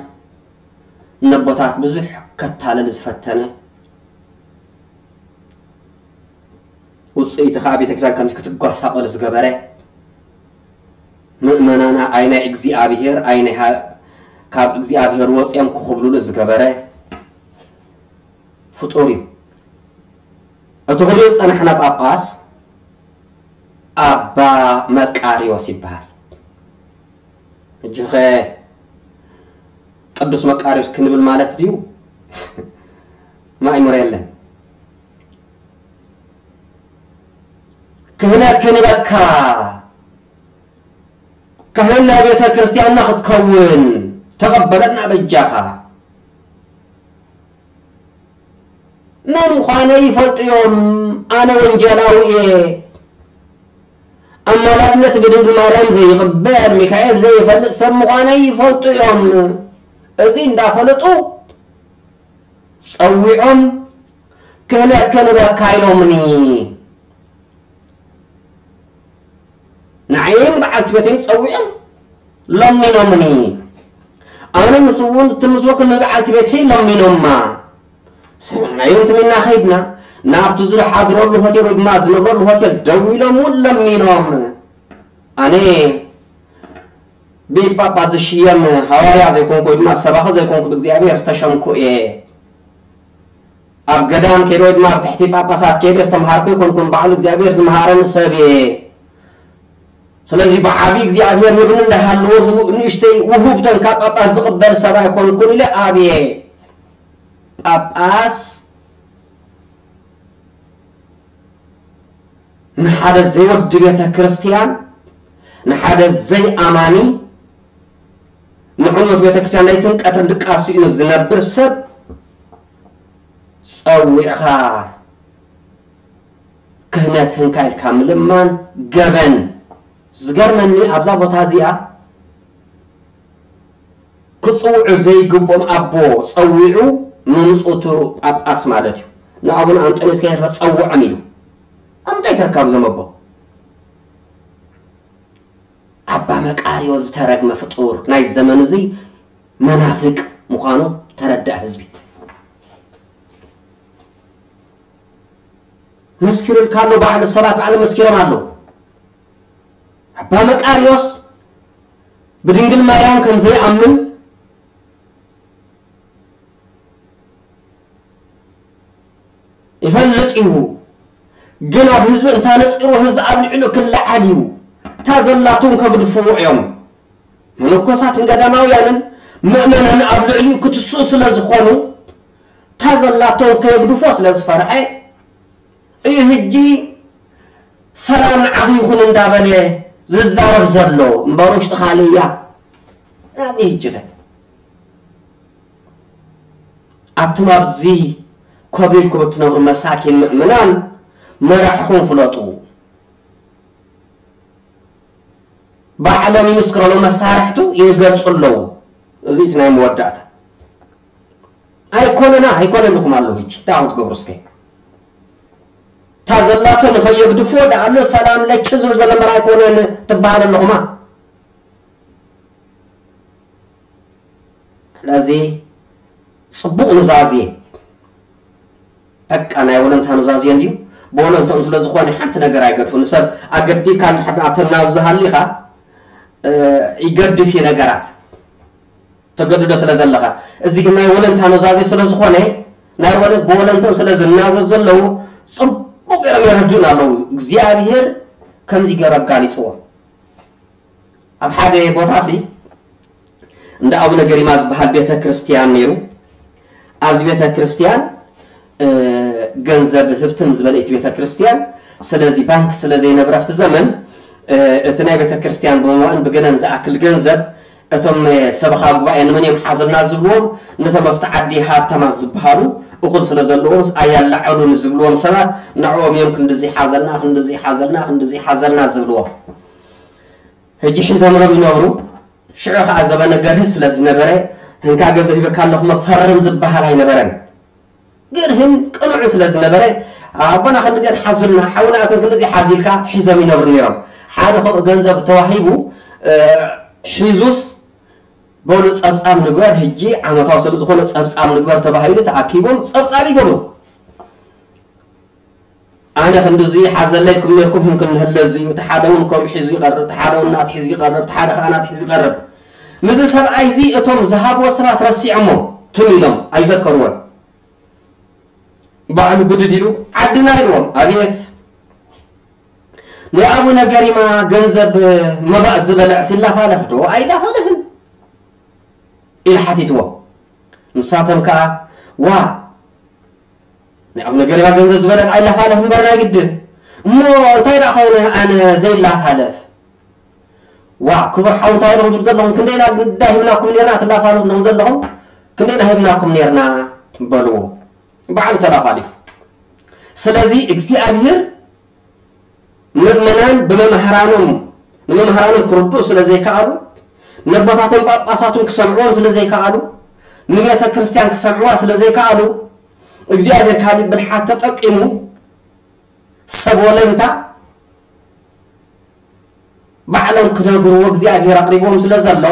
ነቦታት ብዙሕ ከታልል ዝፈተነ፣ ውፅኢቱ ከዓ ቤተክርስትያን ከምዚ ክትጓሳቆል ዝገበረ፣ ምእመናና ኣይ ናይ እግዚኣብሔር ኣይ ናይ ሃ-፣ ካብ እግዚኣብሔር ወፅኦም ክኽብሉሉ ዝገበረ ፍጡር እዩ። እቲ ክሪኦ ዝፀናሕና ጳጳስ ኣባ መቃርዮስ ይበሃል። ሕጂ ኸ ቅዱስ መቃርዮስ ክንብል ማለት ድዩ? ማእምሮ የለን። ክህነት ክንበካ፣ ካህን ናይ ቤተ ክርስቲያንና ክትከውን ተቐበለና በጃኻ። መን ምዃነይ ይፈልጡ እዮም። ኣነ ወንጀላዊ እየ። ኣማላድነት ብድንግል ማርያም ዘይቕበል፣ ሚካኤል ዘይፈልጥ ሰብ ምዃነይ ይፈልጡ እዮም። እዚ እንዳፈለጡ ጸዊዖም ክህነት ክንበካ ኢሎምኒ። ንዓይን በዓልቲ ቤተይን ጸዊዖም ለሚኖምኒ። ኣነ ምስ እውን እቲ ምስ ወክል ንበዓልቲ ቤተይ ለሚኖማ። ሰሚዕናዮም ትም ኢልና ከይድና፣ ናብቲ ዝሓድረሉ ሆቴል ወይ ድማ ዝነብረሉ ሆቴል ደዊሎም እውን ለሚኖም። ኣነ ብኢድ ጳጳስ ዝሽየም ሃዋርያ ዘይኮንኩ ወይ ድማ ሰባኺ ዘይኮንኩ ብእግዚኣብሔር ዝተሸምኩ እየ። ኣብ ገዳም ከይደ ወይ ድማ ኣብ ትሕቲ ጳጳሳት ከይደ ዝተምሃርኩ ኣይኮንኩን፣ ባዕሉ እግዚኣብሔር ዝምሃረኒ ሰብ እየ። ስለዚ ብዓቢ እግዚኣብሔር ይብኒ እንዳሃለዎ ዝብኡ ንእሽተይ ውሁብተን ካብ ጳጳስ ዝቕበል ሰብ ኣይኮንኩን ኢለ ኣብየ። ጳጳስ ንሓደ ዘይወዲ ቤተ ክርስቲያን፣ ንሓደ ዘይኣማኒ፣ ንዕንወት ቤተ ክርስቲያን ለይትን ቀትርን ድቃስ ስኢኑ ዝነብር ሰብ ጸዊዕኻ ክህነት ህንካ ኢልካ ምልማን ገበን። ዝገርመኒ ኣብዛ ቦታ እዚኣ ክጽውዑ ዘይግብኦም ኣቦ ጸዊዑ ምምጽኡ እቲ ጳጳስ ማለት እዩ። ንኣቡነ ኣንጦንዮስ ከይተርፈ ጸውዖም ኢሉ። ኣብ ምንታይ ተርካቡ እዞም ኣቦ? ኣባ መቃርዮ ዝተረግመ ፍጡር ናይ ዘመን እዚ መናፍቅ ምዃኑ ተረዳእ ህዝቢ። መስኪሩልካ ኣሎ ባዕሉ፣ ሰባት ባዕሉ መስኪሮም ኣለዉ። ኣባ መቃርዮስ ብድንግል ማርያም ከም ዘይኣምን ይፈልጥ እዩ። ግን ኣብ ህዝቢ እንታነጺሩ ህዝቢ ኣብ ልዕሉ ክለዓል እዩ። እታ ዘላቶም ከግድፍዎ እዮም። መነኮሳትን ገዳማውያንን ምእመናን ኣብ ልዕሊኡ ክትስኡ ስለ ዝኾኑ እታ ዘላቶም ከየግድፎ ስለ ዝፈርሐ እዩ። ህጂ ሰላም ንዓኺ ይኹን እንዳበለ ዝዛረብ ዘሎ እምበር ውሽጢ ካልእ እያ። ናበይ ህጂ ከ ኣቱም ኣብዚ ኮብሊልኩም እትነብሩ መሳኪን ምእመናን መራሕኹም ፍለጡ። ባዕሎም ይምስክረሉ መሳርሕቱ ይገልጹ ኣለዉ። እዚ እቲ ናይ መወዳእታ ኣይኮነና ኣይኮነልኹም ኣለዉ። ህጂ እንታይ ክትገብሩ እስከ እታ ዘላቶ ንኸየግድፍዎ ደኣ ኣሎ ሰላም ለች ዝብል ዘሎ እምበር ኣይኮነን ትበሃል ኣለኹማ። ስለዚ ጽቡቕ ኑዛዜ በቃ ናይ ወለንታ ኑዛዜ እንድዩ። ብወለንትኦም ስለ ዝኾነ ሓንቲ ነገር ኣይገድፉ ንሰብ ኣገዲካ ንሓዳ ተናዝዝ ሃሊኻ ይገድፍ እዩ ነገራት ተገድዶ ስለ ዘለኻ። እዚ ግን ናይ ወለንታ ኑዛዜ ስለ ዝኾነ ናይ ወለ ብወለንትኦም ስለ ዝናዘዝ ዘለዉ ጽቡቕ ገይሮም የረድኡና ኣለዉ። እግዚኣብሔር ከምዚ ገይሩ ኣጋሊጽዎ። ኣብ ሓደ ቦታ ሲ እንደ ኣቡነ ገሪማ ዝበሃል ቤተ ክርስቲያን ነይሩ። ኣብዚ ቤተ ክርስቲያን ገንዘብ ህብትም ዝበለ እቲ ቤተ ክርስቲያን ስለዚ ባንክ ስለ ዘይነብረ ኣብቲ ዘመን እቲ ናይ ቤተ ክርስቲያን ብምእን ብገለን ዝኣክል ገንዘብ እቶም ሰበኻ ጉባኤ ንመን እዮም ሓዘልና ዝብልዎም ነቶም ኣብቲ ዓዲ ሃብታማት ዝበሃሉ እኹል ስለ ዘለዎም ኣያላዕሉ ንዝብልዎም ሰባት ንዕኦም እዮም ክንድዚ ሓዘልና ክንድዚ ሓዘልና ክንድዚ ሓዘልና ዝብልዎም። ሕጂ ሒዞምሎም ይነብሩ። ሽዑ ኸዓ ዘበነ ገርሂ ስለ ዝነበረ፣ እንካ ገንዘብ ሂበካ ኣለኹ እሞ ፈርም ዝበሃል ኣይነበረን። ገርህን ቅኑዕን ስለ ዝነበረ፣ ኣቦና ክንድዚኣን ሓዙልና፣ ሓውና እቶም ክንድዚ ሓዚልካ ሒዞም ይነብሩ ነይሮም። ሓደ ከምኡ ገንዘብ ተዋሂቡ፣ እ፣ ሒዙስ በሉ ጸብጻብ ንግበር፣ ሕጂ ዓመታዊ ስለ ዝኾነ ጸብጻብ ንግበር ተባሂሉ ተኣኪቦም ጸብጻብ ይገብሩ። ኣነ ክንድዚ ሓዘለይኩም ነርኩም ህን ክንህለ እዚ እዩ። እቲ ሓደ እውን ከም ሒዙ ይቐርብ፣ እቲ ሓደ እውን ናት ሒዙ ይቐርብ፣ እቲ ሓደ ከዓ ናት ሒዙ ይቐርብ። ንዚ ሰብኣይ እዚ እቶም ዝሃብዎ ሰባት ረሲዖሞ ትም ኢሎም ኣይዘከርዎን። ባዕሉ ብድድ ኢሉ ዓድና ኢልዎም። ኣቤት ናይ ኣቡነ ገሪማ ገንዘብ መባእ ዝበልዕ ሲላፋለፍ ዶ ኣይላፋለፍን ኢሉ ሓቲትዎ። ንሳቶም ከዓ ዋ ናይ ኣቡነ ገሪማ ገንዘብ ዝበለ ኣይላፋለፍ እምበር ናይ ግድን እሞ እንታይ ደኣ ኾነ ኣነ ዘይላፋለፍ ዋ ክቡር ሓው እንታይ ኢኹም ትብሉ ዘለኹም ክንደይና ዳ ሂብናኩም ነርና ትላፋለፉ ዘለኹም ክንደይና ሂብናኩም ነርና በልዎ። ባዕሉ ተላፋሊፉ። ስለዚ እግዚኣብሔር ምእመናን ብመምህራኖም ንመምህራኖም ክርድኡ ስለ ዘይከኣሉ ነቦታቶም ጳጳሳቱን ክሰምዕዎም ስለ ዘይከኣሉ ንቤተ ክርስቲያን ክሰምዕዋ ስለ ዘይከኣሉ እግዚኣብሔር ካሊእ ብልሓት ተጠቂሙ ሰብ ወለንታ ባዕሎም ክነግርዎ እግዚኣብሔር ኣቕሪብዎም ስለ ዘሎ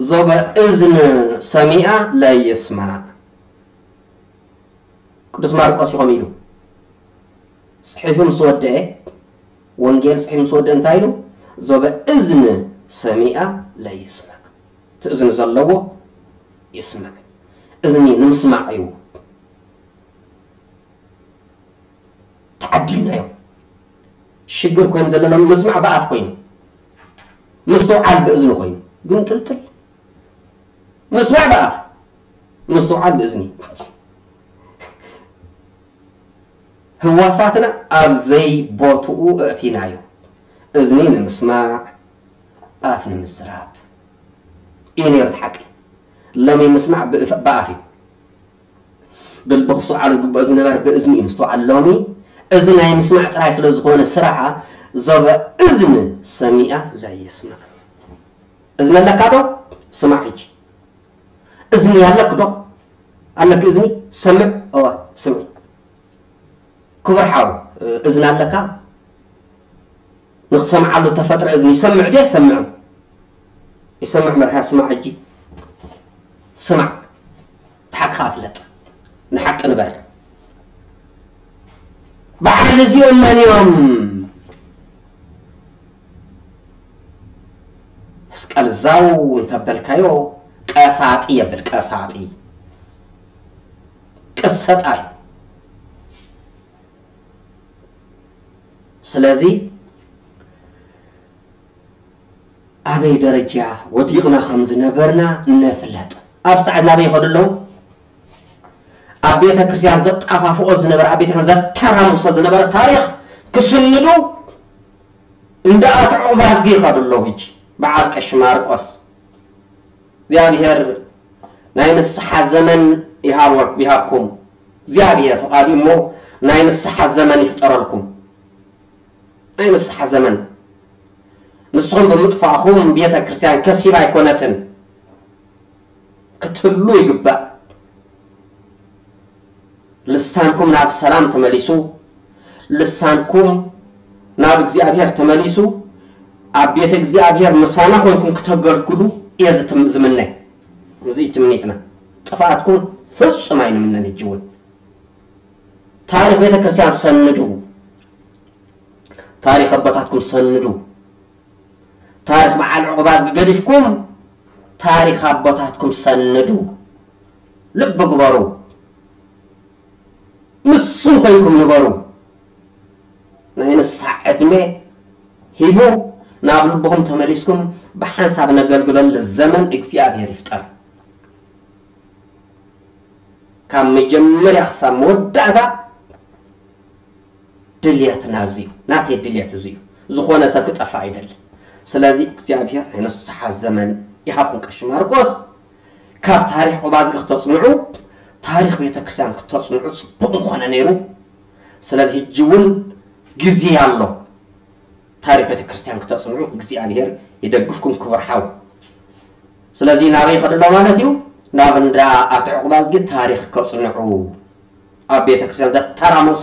ዞበ እዝን ሰሚኣ ለይስማዕ ቅዱስ ማርቆስ እዩ ከምኡ ኢሉ ጽሒፉ ምስ ወደአ ወንጌል ጽሒፉ ምስ ወደአ እንታይ ኢሉ ዞበ እዝን ሰሚኣ ለይስማዕ እቲ እዝኒ ዘለዎ ይስማዕ እዝኒ ንምስማዕ እዩ ተዓዲልናዮ ሽግር ኮይኑ ዘለሎም ምስማዕ ብኣፍ ኮይኑ ምስትውዓል ብእዝኒ ኮይኑ ግን ጥልጥል ምስማዕ ብኣፍ ምስትውዓል ብእዝኒ ህዋሳትና ኣብ ዘይቦትኡ እእቲናዮ እዝኒ ንምስማዕ ኣፍ ንምዝራብ እዩ ነይሩ ሓቂ ሎሚ ምስማዕ ብኣፍ እዩ ብልቢ ክስተውዓሉ ዝግብኦ ዝነበረ ብእዝኒ እዩ ምስተውዓል ሎሚ እዚ ናይ ምስማዕ ጥራይ ስለ ዝኾነ ስራሓ ዞበ እዝኒ ሰሚኣ ለይስማዕ እዝኒ ኣለካ ዶ ስማዕ ሕጂ እዝኒ ኣለክ ዶ ኣለክ እዝኒ ሰምዕ እዋ ስምዒ ክቡር ሓው እዝኒ ኣለካ ንክትሰምዓሉ ተፈጥረ እዝኒ ይሰምዕ ድዩ ኣይሰምዕን ይሰምዕ መርሃ ስማዕ ሕጂ ስማዕ እቲ ሓቅኻ ፍለጥ ንሓቂ ንበር በዓል እዚኦም መን እዮም መስቀል ዛው እንተበልካዮ ቀሳጢ የብል ቀሳጢ ቅሰጣ እዩ ስለዚ ኣበይ ደረጃ ወዲቕና ከም ዝነበርና ነፍለጥ። ኣብ ሰዓት ናበይ ይኸዱ ኣለዉ? ኣብ ቤተ ክርስቲያን ዘጣፋፍኦ ዝነበረ፣ ኣብ ቤተ ክርስቲያን ዘተራምሶ ዝነበረ ታሪኽ ክስንዱ እንዳ ኣቶ ዑባዝጊ ይኸዱ ኣለዉ። ሕጂ በዓል ቀሺ ማርቆስ እግዚኣብሔር ናይ ንስሓ ዘመን ይሃቦ-፣ ይሃብኩም። እግዚኣብሔር ፍቓዱ እሞ ናይ ንስሓ ዘመን ይፍጠረልኩም። ናይ ንስሓ ዘመን። ንስኹም ብምጥፋእኹም ቤተ ክርስቲያን ከሲባ ኣይኮነትን። ክትህሉ ይግባእ። ልሳንኩም ናብ ሰላም ተመሊሱ፣ ልሳንኩም ናብ እግዚኣብሔር ተመሊሱ፣ ኣብ ቤተ እግዚኣብሔር ምሳና ኮይንኩም ክተገልግሉ እየ ዝትም-፣ ዝምነ። እዚ እዩ ትምኒትና። ጥፍኣትኩም ፍጹም ኣይንምነን። ሕጂ እውን ታሪኽ ቤተ ክርስቲያን ሰንዱ፣ ታሪኽ ኣቦታትኩም ሰንዱ። ታሪኽ በዓል ዑቕባዝጊ ገዲፍኩም ታሪኽ ኣቦታትኩም ሰንዱ። ልቢ ግበሩ። ምስም ኮይንኩም ንበሩ። ናይ ንስሓ ዕድመ ሂቡ ናብ ልብኹም ተመሊስኩም ብሓንሳብ ነገልግለሉ ዘመን እግዚኣብሔር ይፍጠር። ካብ መጀመርያ ክሳብ መወዳእታ ድልየትና እዚ እዩ። ናተይ ድልየት እዚ እዩ። ዝኾነ ሰብ ክጠፍእ ኣይደልን። ስለዚ እግዚኣብሔር ናይ ንስሓ ዘመን ይሃብኩም ቀሺ ማርቆስ። ካብ ታሪኽ ዑባዝጊ ክተጽንዑ፣ ታሪኽ ቤተ ክርስቲያን ክተጽንዑ ጽቡቕ ምኾነ ነይሩ። ስለዚ ሕጂ እውን ግዜ ኣሎ። ታሪኽ ቤተ ክርስቲያን ክተጽንዑ እግዚኣብሔር ይደግፍኩም ክቡር ሓው። ስለዚ ናበይ ይኸዱ ኣሎ ማለት እዩ? ናብ እንዳ ኣቶ ዑቕባዝጊ ታሪኽ ከጽንዑ። ኣብ ቤተ ክርስቲያን ዘተራመሶ፣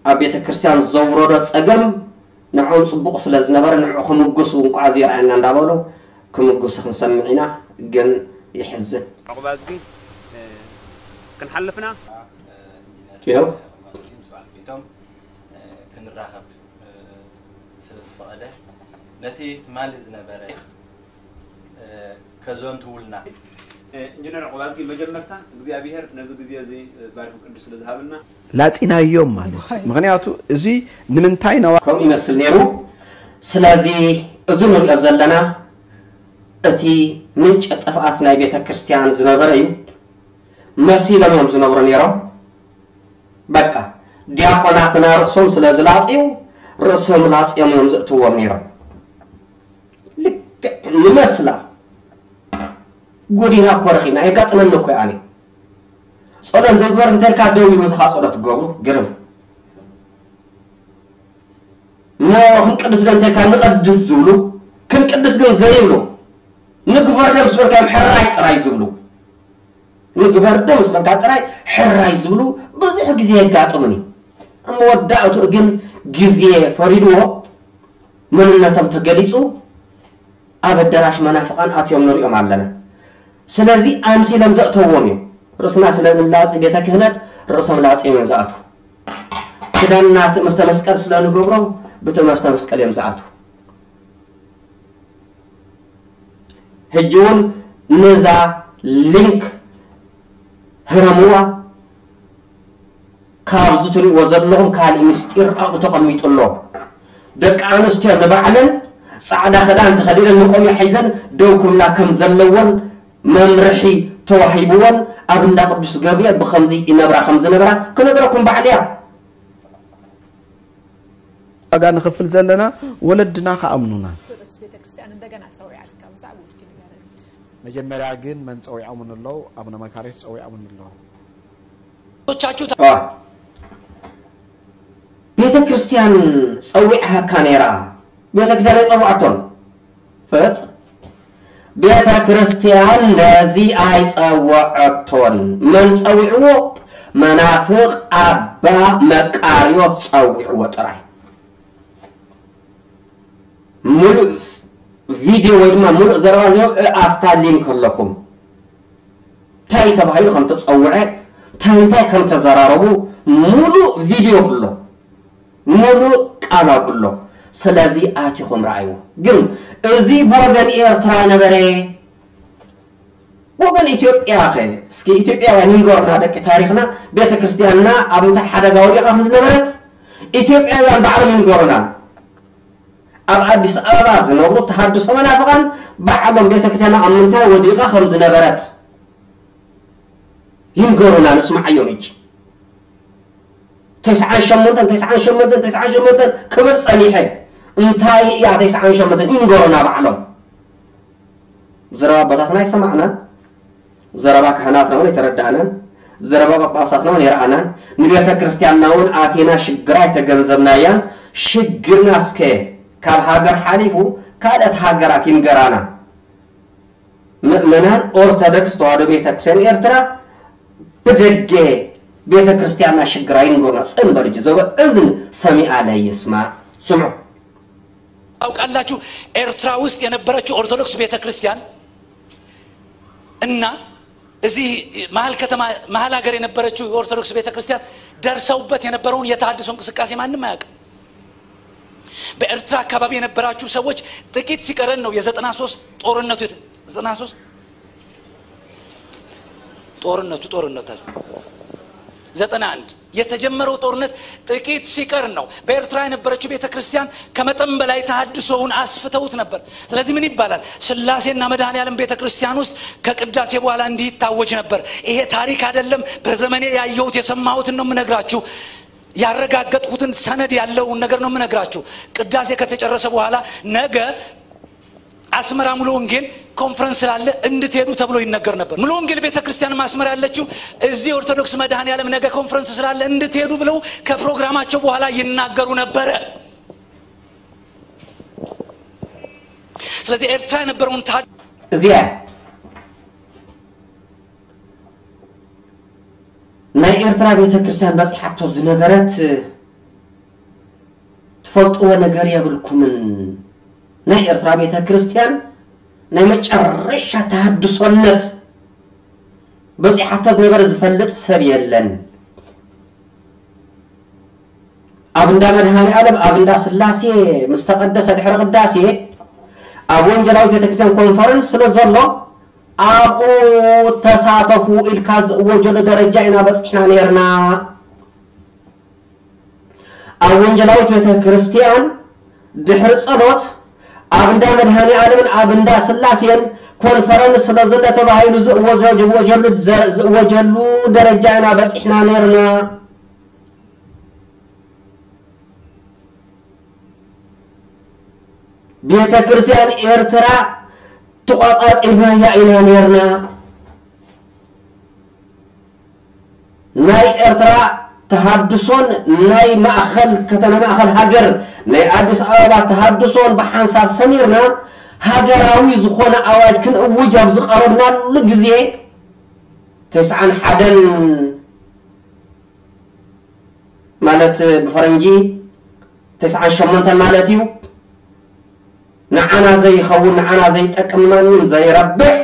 ኣብ ቤተ ክርስቲያን ዘውረዶ ጸገም ንዕኦም ጽቡቕ ስለ ዝነበረ ንዕኡ ክምጉሱ እንቋዕ ዘይረኣየና እንዳበሉ ክምጉሱ ክንሰምዕ ኢና። ግን የሕዝን። ዑቕባዝጊ፣ እ፣ ክንሓልፍና። ይኸው። እ፣ ክንራኸብ፣ እ፣ ስለ ዝፈቐደ ነቲ ትማሊ ዝነበረ፣ እ፣ ከዘንትውልና። እ፣ ኢንጂነር ዑቕባዝጊ፣ መጀመርታ እግዚኣብሔር ነዚ ግዜ እዚ፣ እ፣ ባሪኹ ቅዱስ ስለ ዝሃበና ላጺናዮም ማለት እዩ። ምኽንያቱ እዚ ንምንታይ ነዋ ከምኡ ይመስል ነይሩ። ስለዚ እዚ ንሪኦ ዘለና እቲ ምንጪ ጥፍኣት ናይ ቤተ ክርስቲያን ዝነበረ እዩ። መሲሎም እዮም ዝነብሩ ነይሮም። በቃ ዲያቆናትና ርእሶም ስለ ዝላጽዩ ርእሶም ላጽዮም እዮም ዘእትዎም ነይሮም። ልክዕ ንመስላ ጎዲና እኮ ረኺብና፣ የጋጥመኒ እኮ እዩ ኣነ። ጸሎት ንግበር እንተልካ ደው ኢሉ ምሳኻ ጸሎት ትገብሩ ግርም። እሞ ክንቅድስ ዶ እንተልካ ንቐድስ ዝብሉ፣ ክንቅድስ ግን ዘይብሉ፣ ንግበር ዶ ምስ በልካ እዮም ሕራይ ጥራይ ዝብሉ። ንግበር ዶ ምስ በልካ ጥራይ ሕራይ ዝብሉ ብዙሕ ግዜ የጋጥሙኒ። ኣብ መወዳእትኡ ግን ግዜ ፈሪድዎ መንነቶም ተገሊጹ ኣብ ኣዳራሽ መናፍቓን ኣትዮም ንሪኦም ኣለና። ስለዚ ኣምሲሎም ዘእተዎም እዮም። ርእስና ስለ ንላጺ ቤተ ክህነት ርእሶም ላጺዮም እዮም ዝኣትዉ። ክዳንና ትእምርተ መስቀል ስለ ንገብሮ ብትእምርተ መስቀል እዮም ዝኣትዉ። ሕጂ እውን ነዛ ሊንክ ህረምዋ። ካብዚ ትሪእዎ ዘለኹም ካልእ ምስጢር ኣብኡ ተቐሚጡ ኣሎ። ደቂ ኣንስትዮ ንባዕለን ጻዕዳ ክዳን ተኸዲነን መቆምያ ሒዘን ደው ክብላ ከም ዘለወን መምርሒ ተዋሂብወን ኣብ እንዳ ቅዱስ ገብርኤል ብኸምዚ ይነብራ ከም ዝነበራ ክነግረኩም ባዕለይ እያ። ዋጋ ንኽፍል ዘለና ወለድና ክኣምኑና። ኦርቶዶክስ ቤተክርስትያን እንደገና ጸዊዓትካ ብዛዕባ እስኪ ንገረኒ። መጀመርያ ግን መን ጸዊዖምኒ ኣለዉ? ኣቡነ መካርዮስ ጸዊዖምኒ ኣለዉ። ቻችሁ ቤተ ክርስቲያን ጸዊዓካ ነይራ። ቤተ ክርስቲያን ኣይጸውዓቶን። ፈጽ ቤተ ክርስቲያን ነዚ ኣይጸወዐቶን። መን ጸዊዕዎ? መናፍቕ ኣባ መቃርዮስ ጸዊዕዎ ጥራይ። ሙሉእ ቪድዮ ወይ ድማ ሙሉእ ዘረባ እንዲኦም ኣብታ ሊንክ ኣለኩም። እንታይ ተባሂሉ ከም ተጸውዐ፣ እንታይ እንታይ ከም ተዘራረቡ ሙሉእ ቪድዮ ኣሎ። ሙሉእ ቃል ኣብኡ ኣሎ። ስለዚ ኣቲኹም ረኣይዎ። ግን እዚ ብወገን ኤርትራ ነበረ፣ ወገን ኢትዮጵያ ኸ? እስኪ ኢትዮጵያውያን ይንገሩና ደቂ ታሪኽና፣ ቤተ ክርስቲያንና ኣብ ምንታይ ሓደጋ ወዲቓ ከም ዝነበረት፣ ኢትዮጵያውያን ባዕሎም ይንገሩና። ኣብ ኣዲስ ኣበባ ዝነብሩ ተሃድሶ መናፍቓን ባዕሎም ቤተክርስትያና ኣብ ምንታይ ወዲቓ ከም ዝነበረት ይንገሩና፣ ንስማዓዮም። ሕጂ ተስዓን ሸሞንተን ተስዓን ሸሞንተን ተስዓን ሸሞንተን ክብል ጸኒሐ፣ እንታይ እያ ተስዓን ሸሞንተን? ይንገሩና ባዕሎም። ዘረባ ኣቦታትና ኣይሰማዕናን፣ ዘረባ ካህናትና እውን ኣይተረዳእናን፣ ዘረባ ጳጳሳትና እውን ኣይረኣናን። ንቤተ ክርስቲያንና እውን ኣቲና ሽግራ ኣይተገንዘብናያን። ሽግርና እስከ ካብ ሃገር ሓሊፉ ካልኦት ሃገራት ይንገራና። ምእመናን ኦርቶዶክስ ተዋህዶ ቤተ ክርስቲያን ኤርትራ ብደገ ቤተ ክርስቲያንና ሽግራ ይንገሩና። ጽን በሉ፣ ዞበ እዝን ሰሚዓ ለይስማ። ስምዑ። ታውቃላችሁ፣ ኤርትራ ውስጥ የነበረችው ኦርቶዶክስ ቤተክርስቲያን እና እዚህ መሀል ከተማ፣ መሀል ሀገር የነበረችው የኦርቶዶክስ ቤተክርስቲያን ደርሰውበት የነበረውን የተሃድሶ እንቅስቃሴ ማንም አያውቅም። በኤርትራ አካባቢ የነበራችሁ ሰዎች ጥቂት ሲቀረን ነው የዘጠና ሶስት ጦርነቱ የተ-፣ ዘጠና ሶስት ጦርነቱ ጦርነቱ ዘጠና አንድ የተጀመረው ጦርነት ጥቂት ሲቀር ነው። በኤርትራ የነበረችው ቤተክርስቲያን ከመጠን በላይ ተሃድሶውን አስፍተውት ነበር። ስለዚህ ምን ይባላል? ስላሴና መድኃኔ ዓለም ቤተክርስቲያን ውስጥ ከቅዳሴ በኋላ እንዲህ ይታወጅ ነበር። ይሄ ታሪክ አይደለም፣ በዘመኔ ያየሁት የሰማሁትን ነው የምነግራችሁ። ያረጋገጥኩትን ሰነድ ያለውን ነገር ነው የምነግራችሁ። ቅዳሴ ከተጨረሰ በኋላ ነገ አስመራ ሙሉ ወንጌል ኮንፈረንስ ስላለ እንድትሄዱ ተብሎ ይነገር ነበር። ሙሉ ወንጌል ቤተክርስቲያን ማስመር ያለችው እዚህ ኦርቶዶክስ መድኃኔ ዓለም ነገ ኮንፈረንስ ስላለ እንድትሄዱ ብለው ከፕሮግራማቸው በኋላ ይናገሩ ነበረ። ስለዚህ ኤርትራ የነበረውን ታ- እዚኣ ናይ ኤርትራ ቤተክርስትያን በጺሓቶ ዝነበረት ትፈልጥዎ ነገር የብልኩምን። ናይ ኤርትራ ቤተክርስትያን ናይ መጨረሻ ተሃድሶነት በጺሓቶ ዝነበረ ዝፈልጥ ሰብ የለን። ኣብ እንዳ መድኃኔ ዓለም፣ ኣብ እንዳ ስላሴ ምስ ተቐደሰ ድሕሪ ቅዳሴ፣ ኣብ ወንጌላዊት ቤተክርስትያን ኮንፈረንስ ስለ ዘሎ፣ ኣብኡ ተሳተፉ ኢልካ ዝእወጀሉ ደረጃ ኢና በጺሕና ነይርና። ኣብ ወንጌላዊት ቤተክርስትያን ድሕሪ ጸሎት ኣብ እንዳ መድኃኔ ዓለምን ኣብ እንዳ ስላሴን ኮንፈረንስ ስለ ዘሎ ተባሂሉ ዝእወጀ-፣ ዝእወጀሉ ዘ-፣ ዝእወጀሉ ደረጃ ኢና በጺሕና ነይርና። ቤተክርስትያን ኤርትራ ተቋጻጺርናያ ኢና ነይርና። ናይ ኤርትራ ተሃድሶን ናይ ማእኸል ከተማ፣ ማእኸል ሃገር ናይ ኣዲስ ኣበባ ተሃድሶን ብሓንሳብ ሰሚርና ሃገራዊ ዝኾነ ኣዋጅ ክንእውጅ ኣብ ዝቐረብናሉ ግዜ ተስዓን ሓደን ማለት ብፈረንጂ ተስዓን ሸሞንተን ማለት እዩ። ንዓና ዘይኸውን፣ ንዓና ዘይጠቅም፣ ንማንም ዘይረብሕ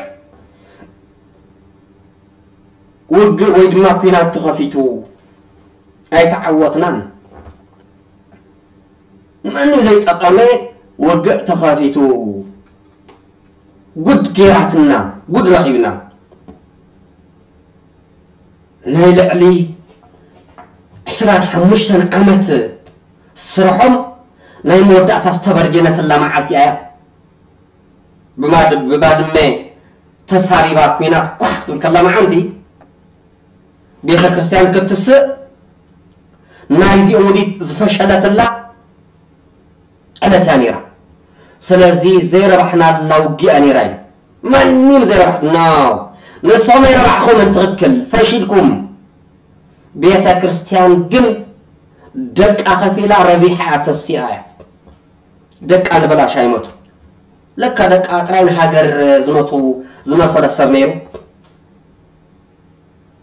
ውግእ ወይ ድማ ኲናት ተኸፊቱ ኣይተዓወትናን። ንማንም ዘይጠቐመ ውግእ ተኸፊቱ ጉድ ገይራትና፣ ጉድ ረኺብና። ናይ ልዕሊ ዕስራን ሓሙሽተን ዓመት ስርሖም ናይ መወዳእታ ዝተበርጀነትላ መዓልቲ እያ። ብማድ-፣ ብባድመ ተሳሪባ ኲናት ኳሕ ክትብል ከላ መዓልቲ ቤተ ክርስቲያን ክትስእ ናይዚኦም ውዲት ዝፈሸለትላ ዕለት እያ ነይራ። ስለዚ ዘይረባሕናላ ውግእ እያ ነይራ እዩ። ማንም ዘይረባሕ-፣ no። ንስኹም ኣይረባሕኹምን፣ ትኽክል፣ ፈሺልኩም። ቤተ ክርስቲያን ግን ደቃ ከፊላ ረቢሓ እያ፣ ተሲኣ እያ። ደቃ ንበላሽ ኣይሞቱ። ለካ ደቃ ጥራይ ንሃገር ዝሞቱ ዝመሰሎ ሰብ ነይሩ።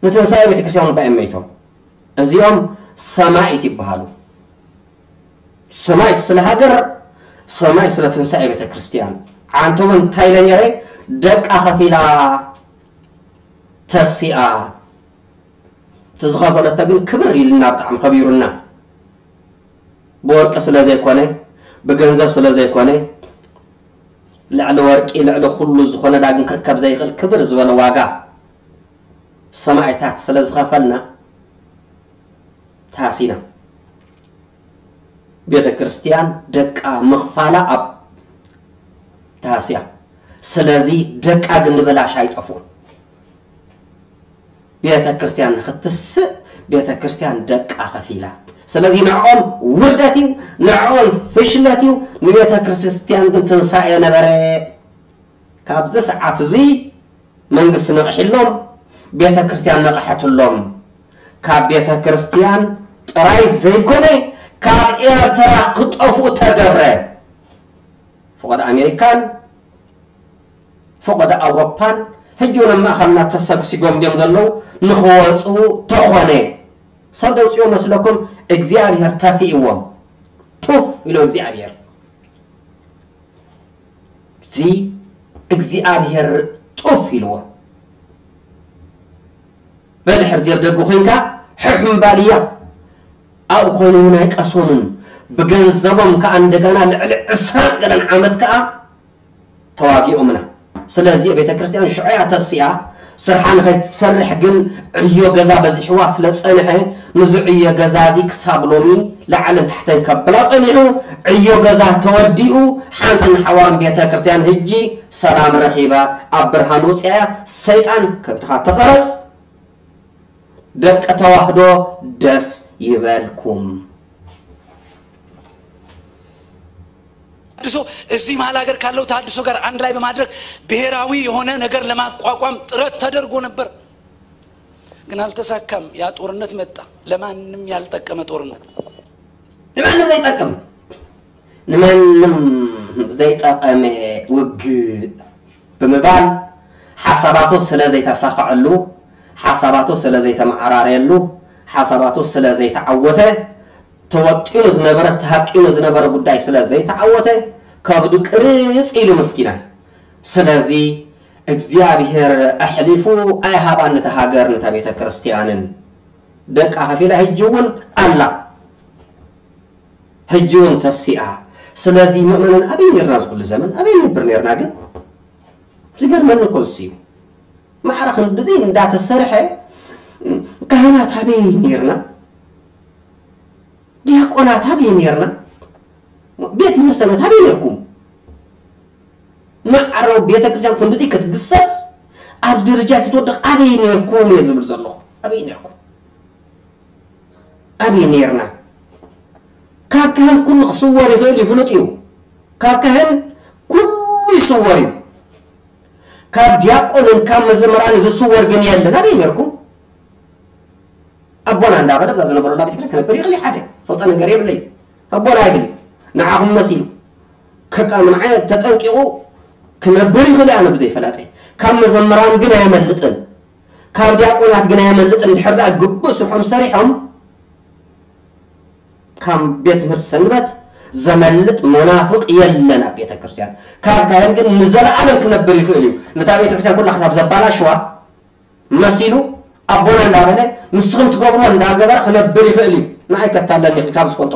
ንትንሳኤ ቤተ ክርስቲያን እባ እዮም መይቶም። እዚኦም ሰማኢት ይበሃሉ። ሰማኢት ስለ ሃገር፣ ሰማኢት ስለ ትንሳኤ ቤተ ክርስቲያን። ኣንተ እውን እንታይ ኢለ ነይረ? ደቃ ከፊላ ተሲኣ። እቲ ዝኸፈለቶ ግን ክብር ኢልና ብጣዕሚ ከቢሩና። ብወርቂ ስለ ዘይኮነ፣ ብገንዘብ ስለ ዘይኮነ፣ ልዕሊ ወርቂ፣ ልዕሊ ኩሉ ዝኾነ ዳግም ክርከብ ዘይኽእል ክብር ዝበለ ዋጋ ሰማኢታት ስለ ዝኸፈልና ተሃሲና። ቤተ ክርስቲያን ደቃ ምኽፋላ ኣብ ታህስያ። ስለዚ ደቃ ግን ንበላሽ ኣይጠፍኡን። ቤተ ክርስቲያን ንኽትስእ ቤተ ክርስቲያን ደቃ ከፊላ። ስለዚ ንዕኦም ውርደት እዩ፣ ንዕኦም ፍሽለት እዩ፣ ንቤተ ክርስቲያን ግን ትንሳኤ ነበረ። ካብዚ ሰዓት እዚ መንግስቲ ነቕሒሎም፣ ቤተ ክርስቲያን ነቕሐትሎም። ካብ ቤተ ክርስቲያን ጥራይ ዘይኮነ ካብ ኤርትራ ክጠፍኡ ተገብረ። ፍቓድ ኣሜሪካን ፍቓድ ኣውሮፓን ሕጂ እውን ኣብ ማእኸልና ተሰግሲጎም ድዮም ዘለዉ ንኽወፁ ተኾነ ሰብ ደውፅዮ መስለኩም እግዚኣብሔር ተፊእዎም ቱፍ ኢሎ እግዚኣብሔር እዚ እግዚኣብሔር ጡፍ ኢልዎ በድሕር ዜብ ደጉ ኮይንካ ሕሕምባልያ ኣብኡ ኮይኑ እውን ኣይቀሰኑን ብገንዘቦም ከዓ እንደገና ልዕሊ ዕስራን ገለን ዓመት ከዓ ተዋጊኦምና ስለዚ ቤተ ክርስቲያን ሽዑያ ተሲኣ ስርሓ ንኸይትሰርሕ ግን ዕዮ ገዛ በዚሕዋ ስለ ዝፀንሐ ንዚ ዕዮ ገዛ እዚ ክሳብ ሎሚ ላዕልን ታሕተን ከብላ ፀኒሑ ዕዮ ገዛ ተወዲኡ ሓንትን ሓዋን ቤተ ክርስቲያን ህጂ ሰላም ረኺባ ኣብ ብርሃን ውፅያ ሰይጣን ከብድኻ ተቐረፅ ደቂ ተዋህዶ ደስ ይበልኩም። ተሐድሶ እዚህ መሀል ሀገር ካለው ተሐድሶ ጋር አንድ ላይ በማድረግ ብሔራዊ የሆነ ነገር ለማቋቋም ጥረት ተደርጎ ነበር፣ ግን አልተሳካም። ያ ጦርነት መጣ፣ ለማንም ያልጠቀመ ጦርነት። ንማንም ዘይጠቅም ንማንም ዘይጠቀመ ውግእ ብምባል ሓሳባቱ ስለ ዘይተሳኸዐሉ፣ ሓሳባቱ ስለ ዘይተመዓራረየሉ፣ ሓሳባቱ ስለ ዘይተዓወተ፣ ተወጢኑ ዝነበረ ተሃቂኑ ዝነበረ ጉዳይ ስለ ዘይተዓወተ ከብዱ ቅርጽ ኢሉ ምስኪናይ። ስለዚ እግዚኣብሔር ኣሕሊፉ ኣይሃባን ነታ ሃገር ነታ ቤተ ክርስቲያንን ደቃ ከፊላ ሕጂ እውን ኣላ ሕጂ እውን ተሲኣ። ስለዚ ምእመናን ኣበይ ነርና ዝኩሉ ዘመን ኣበይ ንነብር ነርና ግን ዝገርመኒ እኮ እሱ እዩ። ማዕረ ክንድዚ እንዳተሰርሐ ካህናት ኣበይ ነርና? ዲያቆናት ኣበይ ነርና? ቤት ምህር ሰንበት ኣበይ ነርኩም? ማዕረ ቤተ ክርስቲያን ክንድዚ ክትግሰስ ኣብዚ ደረጃ እዚ ትወድቕ ኣበይ ነርኩም እየ ዝብል ዘለኹ። ኣበይ ነርኩም? ኣበይ ነርና? ካብ ካህን ኩሉ ክስወር ይኽእል እዩ፣ ፍሉጥ እዩ። ካብ ካህን ኩሉ ይስወር እዩ። ካብ ዲያቆንን ካብ መዘምራን ዝስወር ግን የለን። ኣበይ ነርኩም? ኣቦና እንዳበለ እዛ ዝነበረላ ቤተክርስትያን ክነብር ይኽእል ሓደ ፈልጦ ነገር የብለይ። ኣቦና ይብል ንዓኹም መሲሉ ከቃምንዓይ ተጠንቂቑ ክነብር ይኽእል ኣነ ብዘይፈላጠይ። ካብ መዘምራን ግን ኣየመልጥን፣ ካብ ዲያቆናት ግን ኣየመልጥን። ድሕር ደኣ ግቡእ ስርሖም ሰሪሖም ካብ ቤት ትምህርቲ ሰንበት ዘመልጥ መናፍቕ የለን ኣብ ቤተ ክርስቲያን። ካብ ካህን ግን ንዘለኣለም ክነብር ይኽእል እዩ። ነታ ቤተ ክርስቲያን ኩላ ክሳብ ዘባላሽዋ መሲሉ ኣቦና እንዳበለ ንስኹም ትገብርዎ እንዳገበረ ክነብር ይኽእል እዩ። ንዓይ ከታለኒ ካብ ዝፈልጦ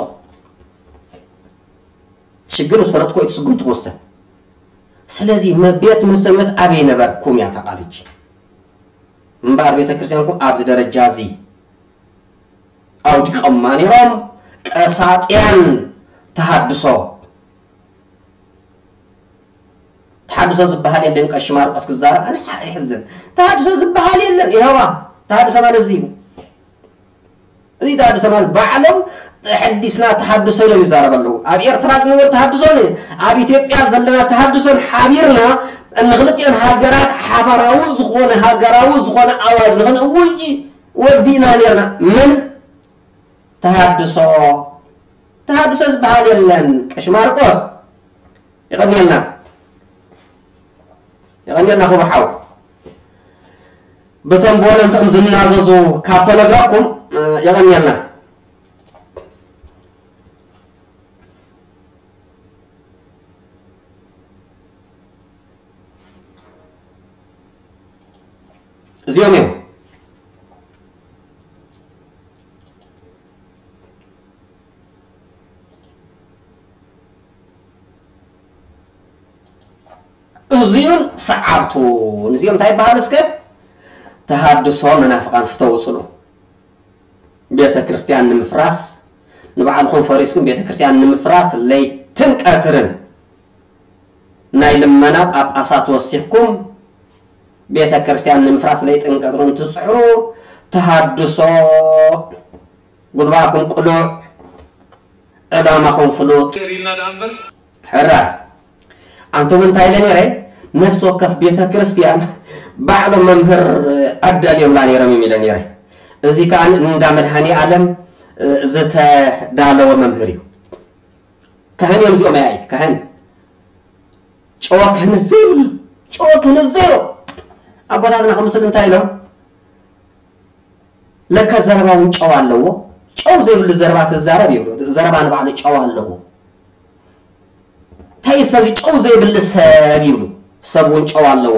ሽግር ዝፈለጥኮ እቲ ስጉም ትወሰን። ስለዚ ቤት ትምህርቲ ሰንበት ኣበይ ነበርኩም እያ እታ ቃል ሕጂ። እምበኣር ቤተ ክርስቲያንኩም ኣብዚ ደረጃ እዚ ኣውዲቖማ ነይሮም። ቀሳጥያን ተሃድሶ ተሓድሶ ዝበሃል የለን። ቀሺ ማርቆስ ክዛረብ ኣነ ይሕዝን። ተሃድሶ ዝበሃል የለን። ይኸዋ ተሃድሶ ማለት እዚ እዩ። እዚ ተሃድሶ ማለት ባዕሎም ተሐዲስና ተሃድሶ ኢሎም ይዛረቡ ኣለዉ። ኣብ ኤርትራ ዝነበረ ተሃድሶን ኣብ ኢትዮጵያ ዘለና ተሃድሶን ሓቢርና ንክልቲኦን ሃገራት ሓባራዊ ዝኾነ ሃገራዊ ዝኾነ ኣዋጅ ንክንእውጅ ወዲእና ነርና። ምን ተሃድሶ ተሃድሶ ዝበሃል የለን። ቀሺ ማርቆስ የቐንየልና የቐንየልና ክቡር ሓው። ብቶም ብወለንትኦም ዝናዘዙ ካብ ተነግረኩም የቐንየልና። እዚኦም እዮም። እዚኡን ሰዓብቱን እዚኦም እንታይ ይበሃል እስከ? ተሃድሶ መናፍቃን ፍተው ጽሉ። ቤተ ክርስቲያን ንምፍራስ ንባዕልኹም ፈሪስኩም ቤተ ክርስቲያን ንምፍራስ ለይትን ቀትርን ናይ ልመና ጳጳሳት ወሲኽኩም ቤተ ክርስቲያን ንምፍራስ ለይትን ቀትርን ትጽዕሩ። ተሃድሶ ጉልባኹም ቅሉዕ፣ ዕላማኹም ፍሉጥ። ሕራ ኣንቶም እንታይ ኢለ ነይረ? ነፍሲ ወከፍ ቤተ ክርስቲያን ባዕሎም መምህር ኣዳልዮምላ ነይሮም እዮም ኢለ ነይረ። እዚ ከዓ እንዳ መድሃኒ ዓለም ዝተዳለወ መምህር እዩ። ካህን እዮም እዚኦም። ያይ ካህን ጨዋ ክህነት ዘይብሉ፣ ጨዋ ክህነት ዜሮ። ኣቦታትና ከምስል እንታይ ኢሎም? ለካ ዘረባ እውን ጨው ኣለዎ። ጨው ዘይብሉ ዘረባ ትዛረብ ይብሉ። ዘረባ ንባዕሉ ጨው ኣለዎ። እንታይ እዩ ሰብ ጨው ዘይብሉ ሰብ ይብሉ? ሰብ እውን ጨው ኣለዎ።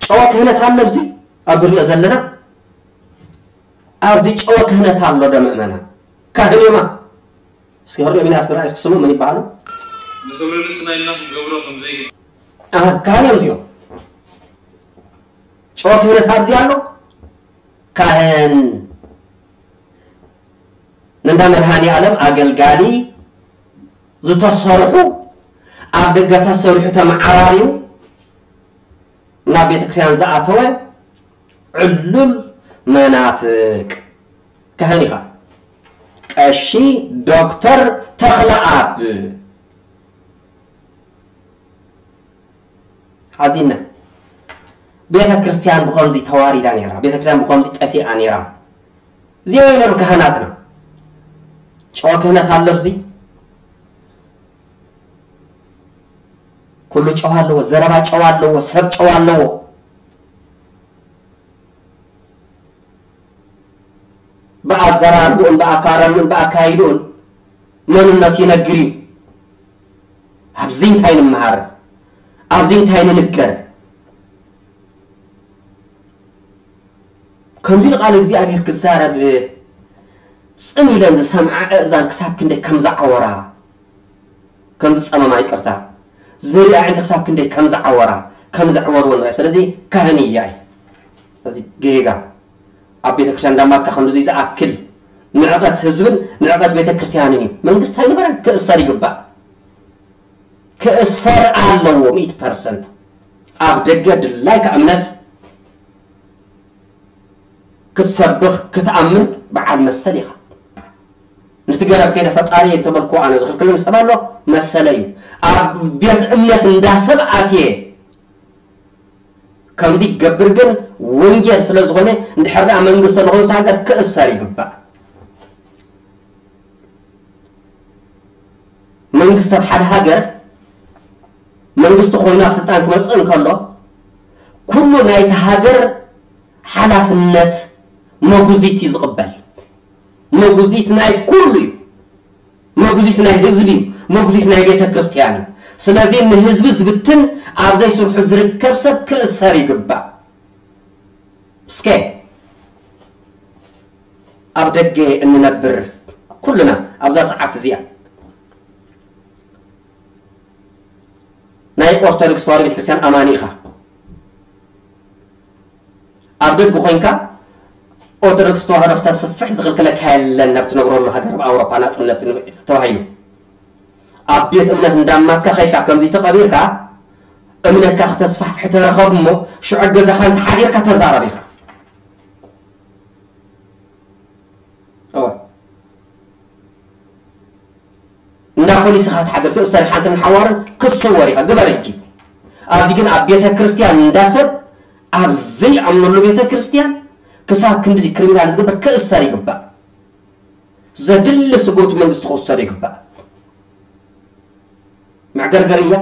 ጨዋ ክህነት ኣሎ ኣብዚ ኣብ ንሪኦ ዘለና። ኣብዚ ጨዋ ክህነት ኣሎ ዶ ምእመናን? ካህን እዮማ። እስኪ ህርዮ ሚናስ ራእይ እስኪ ስሙ ምን ይበሃሉ? ንክብሪ ንስና ኢልና ክንገብሮ ከም ዘይግባእ። ኣሃ፣ ካህን እዮም እዚኦም። ጨዋ ክህነት ኣብዚ ኣሎ። ካህን ንእንዳ መድሃኒ ዓለም ኣገልጋሊ ዝተሰርሑ ኣብ ደገ ተሰሪሑ ተመዓራርዩ ናብ ቤተክርስትያን ዝኣተወ ዕሉል መናፍቅ ካህን ኢኻ። ቀሺ ዶክተር ተኽለኣብ ሓዚና። ቤተ ክርስቲያን ብኸምዚ ተዋሪዳ ነይራ። ቤተ ክርስቲያን ብኸምዚ ጠፊኣ ነይራ። እዚኦም እዮም ነይሮም ካህናትና። ጨዋ ክህነት ኣሎ ኣብዚ። ኩሉ ጨዋ ኣለዎ፣ ዘረባ ጨዋ ኣለዎ፣ ሰብ ጨዋ ኣለዎ። ብኣዘራርብኡን ብኣካረምኡን ብኣካይድኡን መንነቱ ይነግር እዩ። ኣብዚ እንታይ ንምሃር? ኣብዚ እንታይ ንንገር? ከምዚ ንቃል እግዚኣብሔር ክዛረብ ጽን ኢለን ዝሰምዓ ኣእዛን ክሳብ ክንደይ ከም ዝዓወራ፣ ከም ዝጸመማ፣ ይቅርታ፣ ዝርኢ ኣዒንቲ ክሳብ ክንደይ ከም ዝዓወራ፣ ከም ዘዕወርዎ ንርኢ። ስለዚ ካህን እያ እዩ። እዚ ጌጋ ኣብ ቤተክርስትያን እንዳማትካ ክንድዚ ዝኣክል ንዕቀት ህዝብን ንዕቀት ቤተክርስትያንን እዩ። መንግስቲ ኣይነበረን፣ ክእሰር ይግባእ። ክእሰር ኣለዎ ሚእቲ ፐርሰንት። ኣብ ደገ ድላይካ እምነት ክትሰብኽ ክትኣምን በዓል መሰል ኢኻ። ነቲ ገረብ ከይደ ፈጣሪ እንተበልኩ ኣነ ዝኽልክልን ሰብ ኣሎ መሰለ እዩ። ኣብ ቤት እምነት እንዳሰብ ኣትየ ከምዚ ክገብር ግን ወንጀል ስለ ዝኾነ፣ እንድሕር ደኣ መንግስቲ ዝኾነት ሃገር ክእሰር ይግባእ። መንግስቲ ኣብ ሓደ ሃገር መንግስቲ ኮይኑ ኣብ ስልጣን ክመጽእ እንከሎ፣ ኩሉ ናይቲ ሃገር ሓላፍነት መጉዚት እዩ ዝቕበል። መጉዚት ናይ ኩሉ እዩ። መጉዚት ናይ ህዝቢ እዩ። መጉዚት ናይ ቤተ ክርስቲያን እዩ። ስለዚ ንህዝቢ ዝብትን ኣብ ዘይስርሑ ዝርከብ ሰብ ክእሰር ይግባእ። እስከ ኣብ ደገ እንነብር ኩልና ኣብዛ ሰዓት እዚኣ ናይ ኦርቶዶክስ ተዋህዶ ቤተክርስትያን ኣማኒ ኢኻ። ኣብ ደገ ኮይንካ ኦርቶዶክስ ተዋህዶ ክተስፍሕ ዝኽልክለካ የለን። ናብ ትነብረሉ ሃገር ኣብ ኣውሮፓ ናጽነት ተባሂሉ ኣብ ቤት እምነት እንዳማትካ ከይድካ ከምዚ ተቐቢርካ እምነትካ ክተስፋሕፍሕ ተረኸብ እሞ ሽዑ ገዛኻ እንተሓዲርካ ተዛረብ ኢኻ። እወ። እንዳ ፖሊስ ኢኻ ትሓድር፣ ትእሰር፣ ሓንትን ሓዋርን ክሰወር ኢኻ። ግበር ሕጂ። ኣብዚ ግን ኣብ ቤተ ክርስቲያን እንዳ ሰብ ኣብ ዘይኣምነሉ ቤተ ክርስቲያን ክሳብ ክንድዚ ክሪሚናል ዝግበር ክእሰር ይግባእ። ዘድሊ ስጉምቲ መንግስቲ ክውሰዶ ይግባእ። መዕገርገር እያ።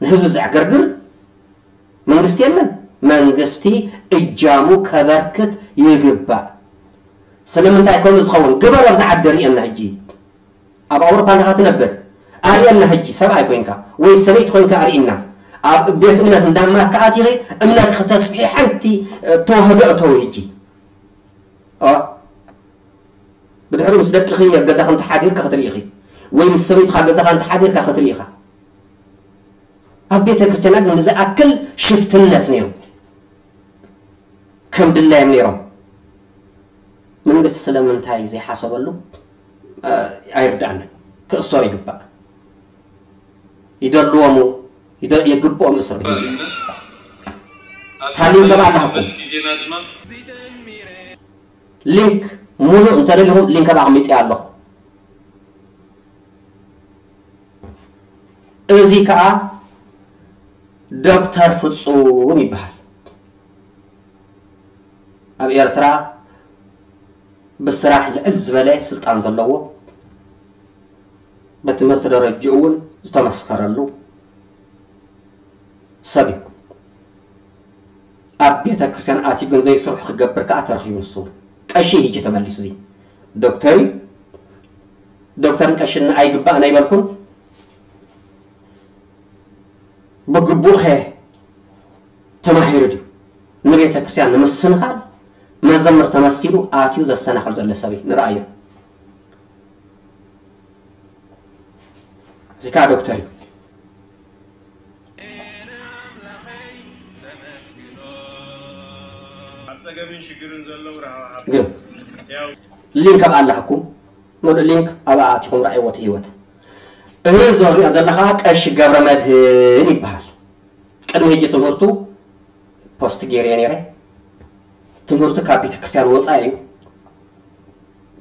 ንህዝቢ ዘዕገርግር መንግስቲ የለን። መንግስቲ እጃሙ ከበርክት ይግባእ። ስለምንታይ ከምኡ ዝኸውን ግበር። ኣብዚ ዓዲ ርእየና ሕጂ። ኣብ ኣውሮፓ እንዲኻ ትነብር። ኣርእየና ሕጂ፣ ሰብኣይ ኮይንካ ወይ ሰበይቲ ኮይንካ ኣርእየና። ኣብ ቤት እምነት እንዳማትካ ኣቲኺ እምነት ክተስፍሒ ሓንቲ፣ እ፣ ተዋህዶ እተዊ ሕጂ። ኦ፣ ብድሕሪኡ ምስ ደቅኺ ኣብ ገዛኺ እንተሓዲርካ ክትርኢ ኢኺ፣ ወይ ምስ ሰበይትኻ ኣብ ገዛኻ እንተሓዲርካ ክትርኢ ኢኻ። ኣብ ቤተ ክርስቲያናት ንዝኣክል ሽፍትነት ነይሩ። ከም ድላዮም ነይሮም። መንግስቲ ስለምንታይ ዘይሓሰበሉ ኣይርዳእንን። ክእሰሩ ይግባእ። ይደልዎም የግብኦም እስር ቤት። ታሊም ገባ ኣለኩም። ሊንክ ሙሉእ እንተደሊኹም ሊንክ ኣቕሚጠ ኣለኹ። እዚ ከዓ ዶክተር ፍጹም ይበሃል። ኣብ ኤርትራ ብስራሕ ልዕል ዝበለ ስልጣን ዘለዎ፣ ብትምህርቲ ደረጅኡ እውን ዝተመስከረሉ ሰብ እዩ። ኣብ ቤተ ክርስቲያን ኣትዩ ግን ዘይስርሑ ክገብር ከዓ ተረኺቡ። ንሱ እውን ቀሺ ሕጂ ተመሊሱ። እዚ ዶክተር እዩ። ዶክተርን ቀሽን ኣይግባእን ኣይበልኩን። ብግቡእ ኸ ተማሂሩ ድዩ? ንቤተ ክርስቲያን ንምስንኻል መዘምር ተመሲሉ ኣትዩ ዘሰናኽል ዘሎ ሰብ እዩ። ንረኣዮ። እዚ ከዓ ዶክተር እዩ። ግን ሊንክ ኣብ ኣላህኩም ሙሉእ ሊንክ ኣብኣ ኣቲኹም ረኣይዎ እቲ ህይወት። እዚ ንሪኦ ዘለና ከዓ ቀሺ ገብረ መድህን ይበሃል። ቅድሚ ሕጂ ትምህርቱ ፖስት ገይረዮ ነይረ። ትምህርቱ ካብ ቤተክርስትያን ወፃኢ እዩ።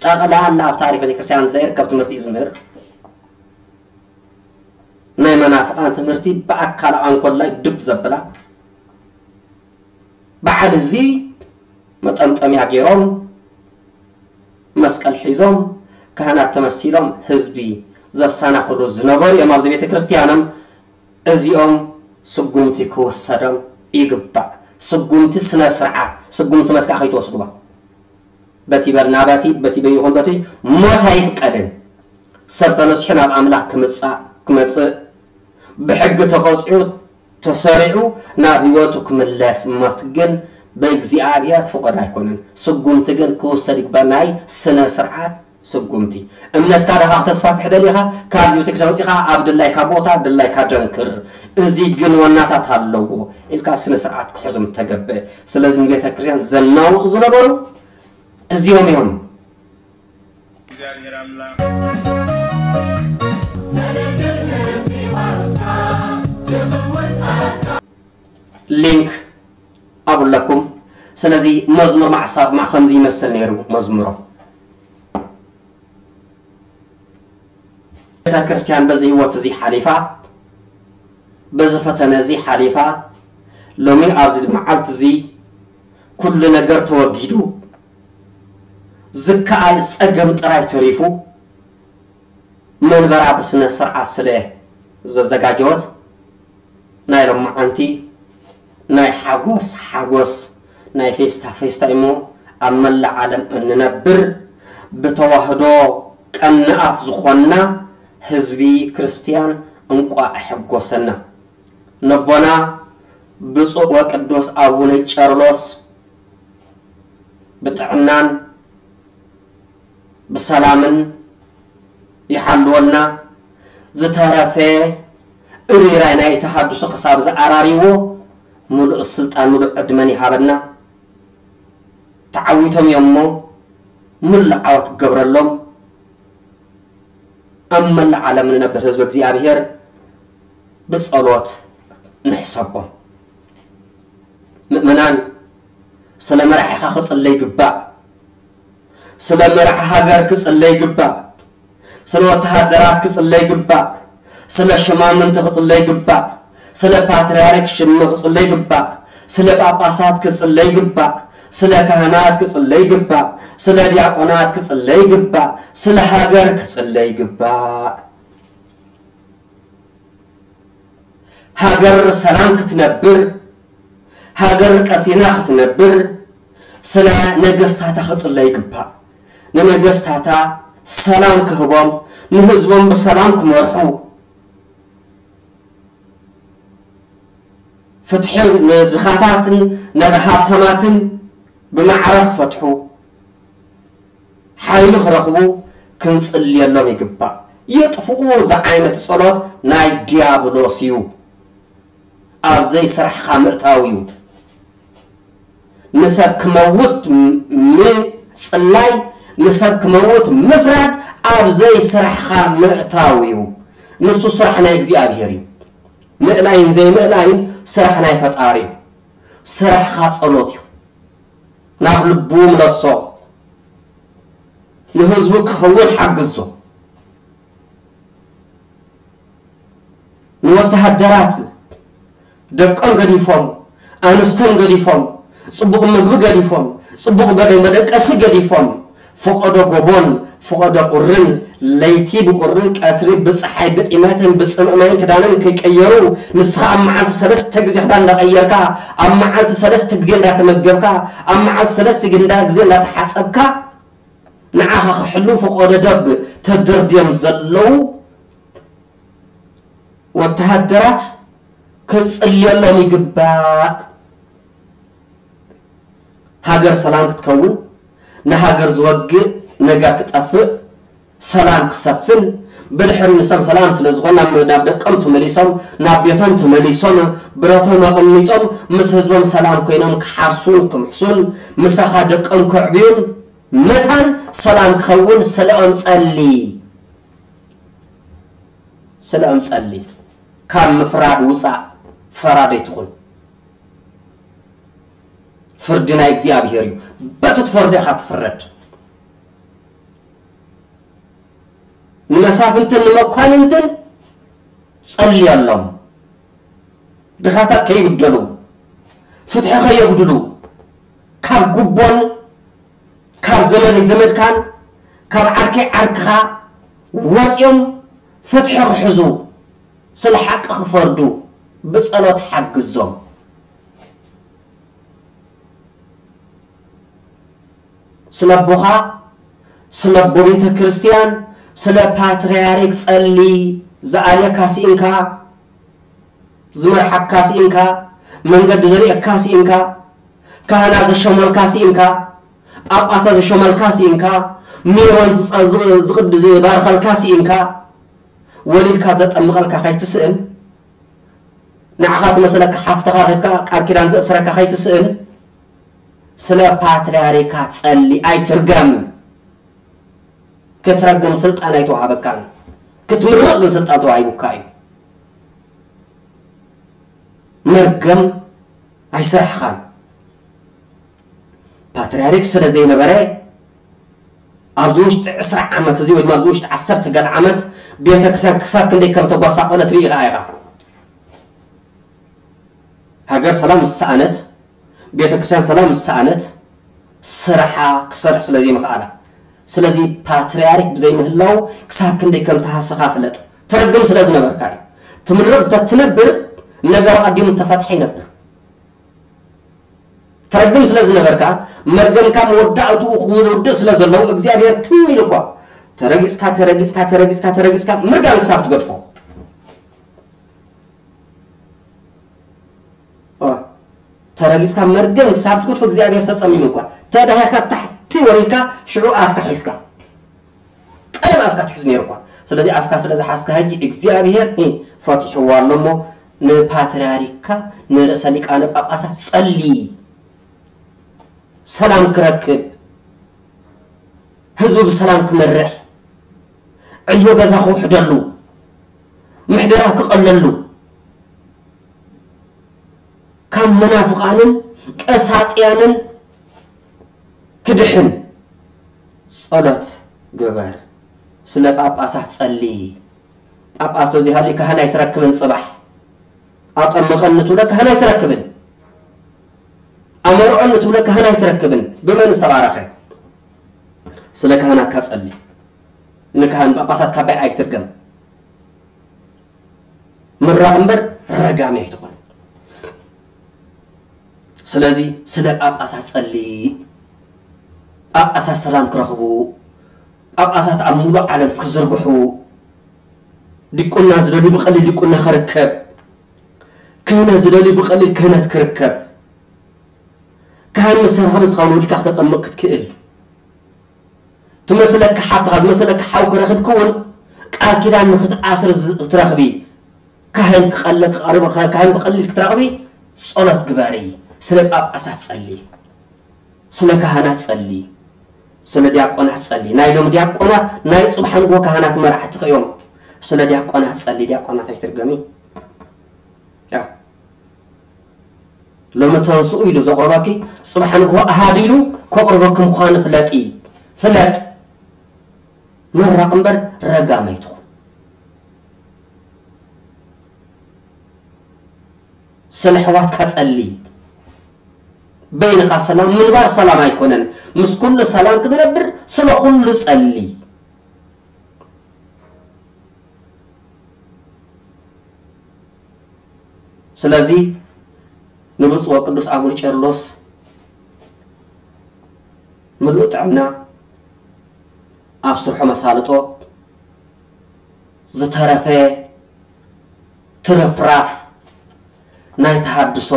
ጠቕላላ ኣብ ታሪክ ቤተክርስትያን ዘይርከብ ትምህርቲ እዩ ዝምህር። ናይ መናፍቃን ትምህርቲ ብኣካል ኣንኮላይ ድብ ዘብላ። በዓል እዚ መጠምጠምያ ገይሮም መስቀል ሒዞም ካህናት ተመሲሎም ህዝቢ ዘሰናኽሉ ዝነበሩ እዮም ኣብዚ ቤተ ክርስቲያኖም። እዚኦም ስጉምቲ ክውሰዶም ይግባእ። ስጉምቲ ስነ ስርዓት፣ ስጉምቲ መትከኣ ከይትወስድዋ። በቲ በልና በቲ በቲ በይኹን በቲ ሞት ኣይፍቀድን። ሰብ ተነሲሑ ናብ ኣምላኽ ክምጻእ ክመጽእ ብሕጊ ተቐጺዑ ተሰሪዑ ናብ ህይወቱ ክምለስ። ሞት ግን ብእግዚኣብሔር ፍቑድ ኣይኮነን። ስጉምቲ ግን ክውሰድ ይግባእ። ናይ ስነ ስርዓት ስጉምቲ። እምነትካ ደኻ ክተስፋፍሕ ደሊኻ፣ ካብዚ ቤተክርስትያን ወፂኻ ኣብ ድላይካ ቦታ ድላይካ ደንክር። እዚ ግን ዋናታት ኣለዎ ኢልካ ስነ ስርዓት ክሕዞም ተገብእ። ስለዚ ንቤተክርስትያን ዘናውፁ ዝነበሩ እዚኦም እዮም። እግዚኣብሔር ኣምላኽ ሊንክ ኣብለኩም። ስለዚ መዝሙር ማዕሳብ ማ ከምዚ ይመስል ነይሩ መዝሙሮም። ቤተ ክርስቲያን በዚ ህይወት እዚ ሓሊፋ፣ በዚ ፈተነ እዚ ሓሊፋ፣ ሎሚ ኣብዚ መዓልቲ እዚ ኩሉ ነገር ተወጊዱ፣ ዝከኣል ጸገም ጥራይ ተሪፉ፣ መንበራ ብስነ ስርዓት ስለ ዘዘጋጀወት፣ ናይ ሎማዓንቲ ናይ ሓጎስ ሓጎስ፣ ናይ ፌስታ ፌስታ እሞ፣ ኣብ መላእ ዓለም እንነብር ብተዋህዶ ቀናኣት ዝኾንና ህዝቢ ክርስትያን እንቋዕ ኣሐጎሰና። ነቦና ብፁዕ ወቅዱስ ኣቡነ ቄርሎስ ብጥዕናን ብሰላምን ይሓልወልና። ዝተረፈ እርይራይ ናይ ተሃድሶ ክሳብ ዝኣራርይዎ ምሉእ ስልጣን ምሉእ ዕድመን ይሃበና። ተዓዊቶም እዮም እሞ ምሉእ ዓወት ክገብረሎም ኣብ መላእ ዓለም ንነብር ህዝቢ እግዚኣብሔር ብጸሎት ንሕሰቦም። ምእመናን፣ ስለ መራሒኻ ክጽለ ይግባእ። ስለ መራሒ ሃገር ክጽለ ይግባእ። ስለ ወተሃደራት ክጽለ ይግባእ። ስለ ሹማምንቲ ክጽለ ይግባእ። ስለ ፓትርያርክ ሽም ክጽለ ይግባእ። ስለ ጳጳሳት ክጽለ ይግባእ። ስለ ካህናት ክጽለ ይግባእ። ስለ ዲያቆናት ክጽለ ይግባእ። ስለ ሃገር ክጽለ ይግባእ። ሃገር ሰላም ክትነብር፣ ሃገር ቀሲና ክትነብር፣ ስለ ነገስታታ ክጽለ ይግባእ። ንነገስታታ ሰላም ክህቦም፣ ንህዝቦም ብሰላም ክመርሑ፣ ፍትሒ ንድኻታትን ንሃብታማትን ብማዕረ ክፈትሑ፣ ሓይሊ ክረኽቡ ክንጽልየሎም ይግባእ። የጥፍኡ ዝዓይነት ጸሎት ናይ ዲያብሎስ እዩ። ኣብ ዘይስራሕኻ ምእታው እዩ። ንሰብ ክመውት ምጽላይ፣ ንሰብ ክመውት ምፍራድ ኣብ ዘይስራሕኻ ምእታው እዩ። ንሱ ስራሕ ናይ እግዚኣብሔር እዩ። ምእላይን ዘይምእላይን ስራሕ ናይ ፈጣሪ እዩ። ስራሕኻ ጸሎት እዩ። ናብ ልቡ ምለሶ። ንህዝቡ ክኸውን ሓግዞ። ንወተሃደራት ደቆም ገዲፎም፣ ኣንስቶም ገዲፎም፣ ጽቡቕ ምግቢ ገዲፎም፣ ጽቡቕ መደ-፣ መደቀሲ ገዲፎም፣ ፈቐዶ ጎቦን ፈቐዶ ቁርን፣ ለይቲ ብቁሪ፣ ቀትሪ ብጸሓይ፣ ብጢመትን ብጽምእ ማይን ክዳንን ከይቀየሩ፣ ንስኻ ኣብ መዓልቲ ሰለስተ ግዜ ክዳን እንዳቐየርካ፣ ኣብ መዓልቲ ሰለስተ ግዜ እንዳተመገብካ፣ ኣብ መዓልቲ ሰለስተ ግዜ እንዳ-፣ ግዜ እንዳተሓጸብካ፣ ንዓኻ ክሕልው ፈቐዶ ደብ ተደርብዮም ዘለዉ ወተሃደራት ክጽልየሎም ይግባእ። ሃገር ሰላም ክትከውን፣ ንሃገር ዝወግእ ነገር ክጠፍእ፣ ሰላም ክሰፍን፣ ብድሕሪ ንሶም ሰላም ስለ ዝኾነ ናብ፣ ናብ ደቆም ተመሊሶም፣ ናብ ቤቶም ተመሊሶም፣ ብረቶም ኣቐሚጦም ምስ ህዝቦም ሰላም ኮይኖም ክሓርሱን ክምሕሱን፣ ምሳኻ ደቆም ከዕብዩን፣ መታን ሰላም ክኸውን ስለኦም ጸሊ። ስለኦም ጸሊ። ካብ ምፍራድ ውጻእ፣ ፈራድ ኣይትኹን። ፍርዲ ናይ እግዚኣብሔር እዩ። በቲ ትፈርዶ ኢኻ ትፍረድ። ንመሳፍንትን ንመኳንንትን ጸልየሎም። ድኻታት ከይብደሉ፣ ፍትሒ ከየጉድሉ፣ ካብ ጉቦን ካብ ዘመድ ዘመድካን ካብ ዓርከይ ዓርክኻ ወጺኦም ፍትሒ ክሕዙ፣ ስለ ሓቂ ክፈርዱ ብጸሎት ሓግዞም። ስለ ኣቦኻ፣ ስለ ኣቦ ቤተ ክርስቲያን፣ ስለ ፓትርያርክ ጸሊ። ዝኣልየካ ስኢንካ፣ ዝመርሓካ ስኢንካ፣ መንገዲ ዘርእየካ ስኢንካ፣ ካህናት ዘሾመልካ ስኢንካ፣ ጳጳሳት ዘሾመልካ ስኢንካ፣ ሜሮን ዝጸ-፣ ዝ-፣ ዝቕድ-፣ ዝባርኸልካ ስኢንካ፣ ወሊድካ ዘጠምቐልካ ከይትስእን፣ ንዓኻ ትመስለካ ሓፍትኻ ረኺብካ ቃል ኪዳን ዘእስረካ ከይትስእን፣ ስለ ፓትርያርካ ጸሊ፣ ኣይትርገም። ክትረግም ስልጣን ኣይተዋሃበካን። ክትምርቕ ግን ስልጣን ተዋሂቡካ እዩ። መርገም ኣይስራሕኻን። ፓትርያርክ ስለ ዘይነበረ፣ ኣብዚ ውሽጢ ዕስራ ዓመት እዚ ወይ ድማ ኣብዚ ውሽጢ ዓሰርተ ገለ ዓመት ቤተክርስትያን ክሳብ ክንደይ ከም ተጓሳቆለት ርኢኻ ኢኻ። ሃገር ሰላም ምስ ሰኣነት፣ ቤተክርስትያን ሰላም ምስ ሰኣነት፣ ስራሓ ክሰርሕ ስለ ዘይምኽኣላ። ስለዚ ፓትርያርክ ብዘይምህላው ክሳብ ክንደይ ከም ተሃሰኻ ፍለጥ። ትረግም ስለ ዝነበርካ እዩ። ትምርቕ እንተትነብር፣ ነገር ኣቐዲሙ ተፈትሐ ይነብር። ትረግም ስለ ዝነበርካ፣ መርገምካ መወዳእትኡ ክውድእ ስለ ዘለዎ፣ እግዚኣብሔር ትም ኢሉ እኳ፣ ተረጊጽካ፣ ተረጊጽካ፣ ተረጊጽካ፣ ተረጊጽካ፣ ምርጋም ክሳብ ትገድፎ። ኦ፣ ተረጊጽካ መርገም ክሳብ ትገድፎ እግዚኣብሔር ተጸሚሙ እኳ። ተዳሂኻ ታሕቲ ወሪድካ፣ ሽዑ ኣፍካ ሒዝካ። ቀደም ኣፍካ ትሕዝ ነይሩ እኳ። ስለዚ ኣፍካ ስለ ዝሓዝካ፣ ሕጂ እግዚኣብሔር፣ እ፣ ፈቲሕዋ ኣሎ እሞ፣ ንፓትርያርክካ፣ ንርእሰ ሊቃነ ጳጳሳት ጸሊ። ሰላም ክረክብ፣ ህዝቡ ብሰላም ክመርሕ፣ ዕዮ ገዛ ክውሕደሉ፣ ምሕደራ ክቐለሉ፣ ካብ መናፍቓንን ቀሳጥያንን ክድሕን ጸሎት ግበር። ስለ ጳጳሳት ጸሊ። ጳጳስ ተዘይሃልዩ ካህን ኣይትረክብን። ጽባሕ ኣጠምቐኒ ትብሎ ካህን ኣይትረክብን። ኣመርዖኒ ትብሎ ካህን ኣይትረክብን። ብመን ዝተባረኸ? ስለ ካህናትካ ጸሊ። ንካህን ጳጳሳት ካባይ ኣይትርገም። ምራቕ እምበር ረጋሚ ኣይትኹን። ስለዚ ስለ ጳጳሳት ጸሊ። ጳጳሳት ሰላም ክረኽቡ፣ ጳጳሳት ኣብ ሙሉእ ዓለም ክዝርግሑ፣ ዲቁና ዝደልዩ ብቐሊል ዲቁና ክርከብ፣ ክህነት ዝደልዩ ብቐሊል ክህነት ክርከብ፣ ካህን ምስ ተረኽበ ዝኸውን ወሊድካ ክተጠምቕ ክትክእል፣ ትመስለካ ሓፍትኻ፣ ዝመስለካ ሓው ክረኽብ ክውን ቃል ኪዳን ንክትኣስር ዝ-፣ ክትረኽቢ፣ ካህን ክቐለ-፣ ክቐርብ-፣ ካህን ብቐሊል ክትረኽቢ ጸሎት ግበሪ፣ ስለ ጳጳሳት ጸሊ። ስለ ካህናት ጸሊ፣ ስለ ዲያቆናት ጸሊ። ናይ ሎም ዲያቆናት ናይ ጽባሕ ንግሆ ካህናት መራሕቲ እዮም። ስለ ዲያቆናት ጸሊ፣ ዲያቆናት ኣይትርገሚ። ያ ሎሚ ተንስኡ ኢሉ ዘቕርበኪ ጽባሕ ንግሆ ኣሃድ ኢሉ ከቕርበኪ ምዃኑ ፍለጢ። ፍለጥ። ምራቕ እምበር ረጋም ኣይትኹን። ስለ ኣሕዋትካ ጸሊ። በይንኻ ሰላም ምንባር ሰላም ኣይኮነን። ምስ ኩሉ ሰላም ክትነብር ስለ ኩሉ ጸሊ። ስለዚ ንብፁዕ ወቅዱስ ኣቡነ ቄርሎስ ምሉእ ጥዕና፣ ኣብ ስርሖ መሳልጦ፣ ዝተረፈ ትርፍራፍ ናይ ተሃድሶ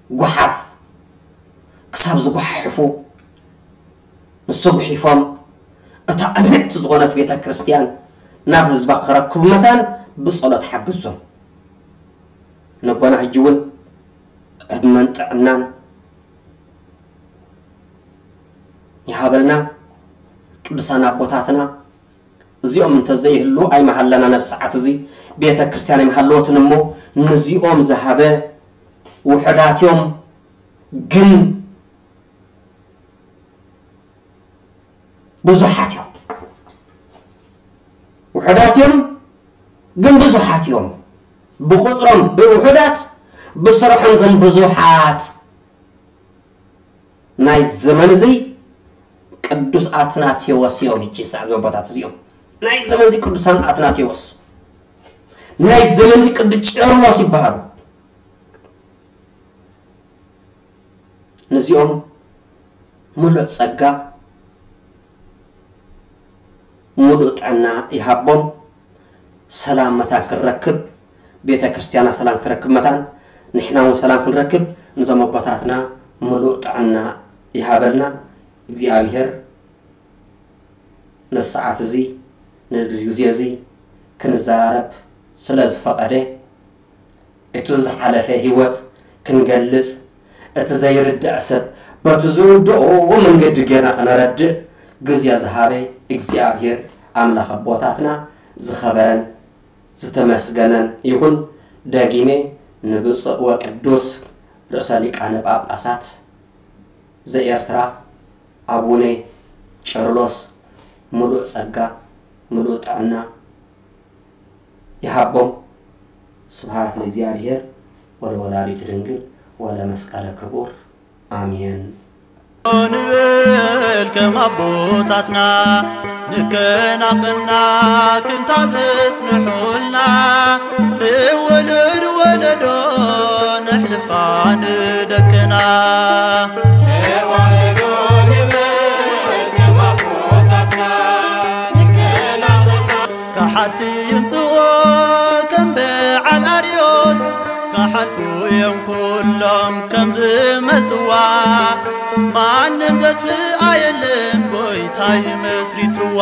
ጓሓፍ ክሳብ ዝጓሓሕፉ፣ ንሱ ጉሒፎም እታ ዕንዕቲ ዝኾነት ቤተ ክርስቲያን ናብ ህዝባ ክረክቡ መታን ብጸሎት ሓግዞም። ነቦና ሕጂ እውን ዕድመን ጥዕናን ይሃበልና። ቅዱሳን ኣቦታትና እዚኦም እንተዘይህሉ ኣይመሃለናን፣ ኣብ ሰዓት እዚ ቤተ ክርስቲያን ኣይምሃለወትን እሞ፣ ነዚኦም ዝሃበ ውሑዳት እዮም፣ ግን ብዙሓት እዮም። ውሑዳት እዮም፣ ግን ብዙሓት እዮም። ብቑጽሮም ብውሑዳት፣ ብስርሖም ግን ብዙሓት። ናይ ዘመን እዚ ቅዱስ ኣትናቴዎስ እዮም። ሕጂ ሰዓት ኣቦታት እዚኦም ናይ ዘመን እዚ ቅዱሳን ኣትናቴዎስ፣ ናይ ዘመን እዚ ቅዱስ ቄርሎስ ይበሃሉ። ነዚኦም ምሉእ ጸጋ፣ ምሉእ ጥዕና ይሃቦም። ሰላም መታን ክንረክብ፣ ቤተ ክርስቲያና ሰላም ክትረክብ መታን፣ ንሕና እውን ሰላም ክንረክብ፣ ንዞም ኣቦታትና ምሉእ ጥዕና ይሃበልና እግዚኣብሔር። ነዚ ሰዓት እዚ፣ ነዚ ግዜ እዚ ክንዘራረብ ስለ ዝፈቐደ፣ እቲ ዝሓለፈ ህይወት ክንገልጽ፣ እቲ ዘይርዳእ ሰብ በቲ ዝርድኦ መንገዲ ጌርና ከነረድእ ግዜ ዝሃበ እግዚኣብሔር ኣምላኽ ኣቦታትና ዝኸበረን ዝተመስገነን ይኹን። ደጊመ ንብፁዕ ወቅዱስ ርእሰ ሊቃነ ጳጳሳት ዘኤርትራ ኣቡነ ቄርሎስ ምሉእ ጸጋ፣ ምሉእ ጥዕና ይሃቦም። ስብሐት ለእግዚኣብሔር ወለወላዲቱ ድንግል ወለመስቀለ ክቡር። ኣሜን። ንበል ከም ኣቦታትና ንከናኸና ክንታ ዘጽንሑልና ንወለድ ወለዶ ነሕልፋ ንደቅና። ተዋህዶ ንበል ከም ኣቦታትና ንከናኸና። ከሓድቲ ይምጽኦ ከም በዓል ኣርዮስ፣ ክሓልፉ እዮም ኩሎም ከም ዝመጽዋ። ማንም ዘጥፍኣ የለን፣ ጎይታ እዩ መስሪትዋ።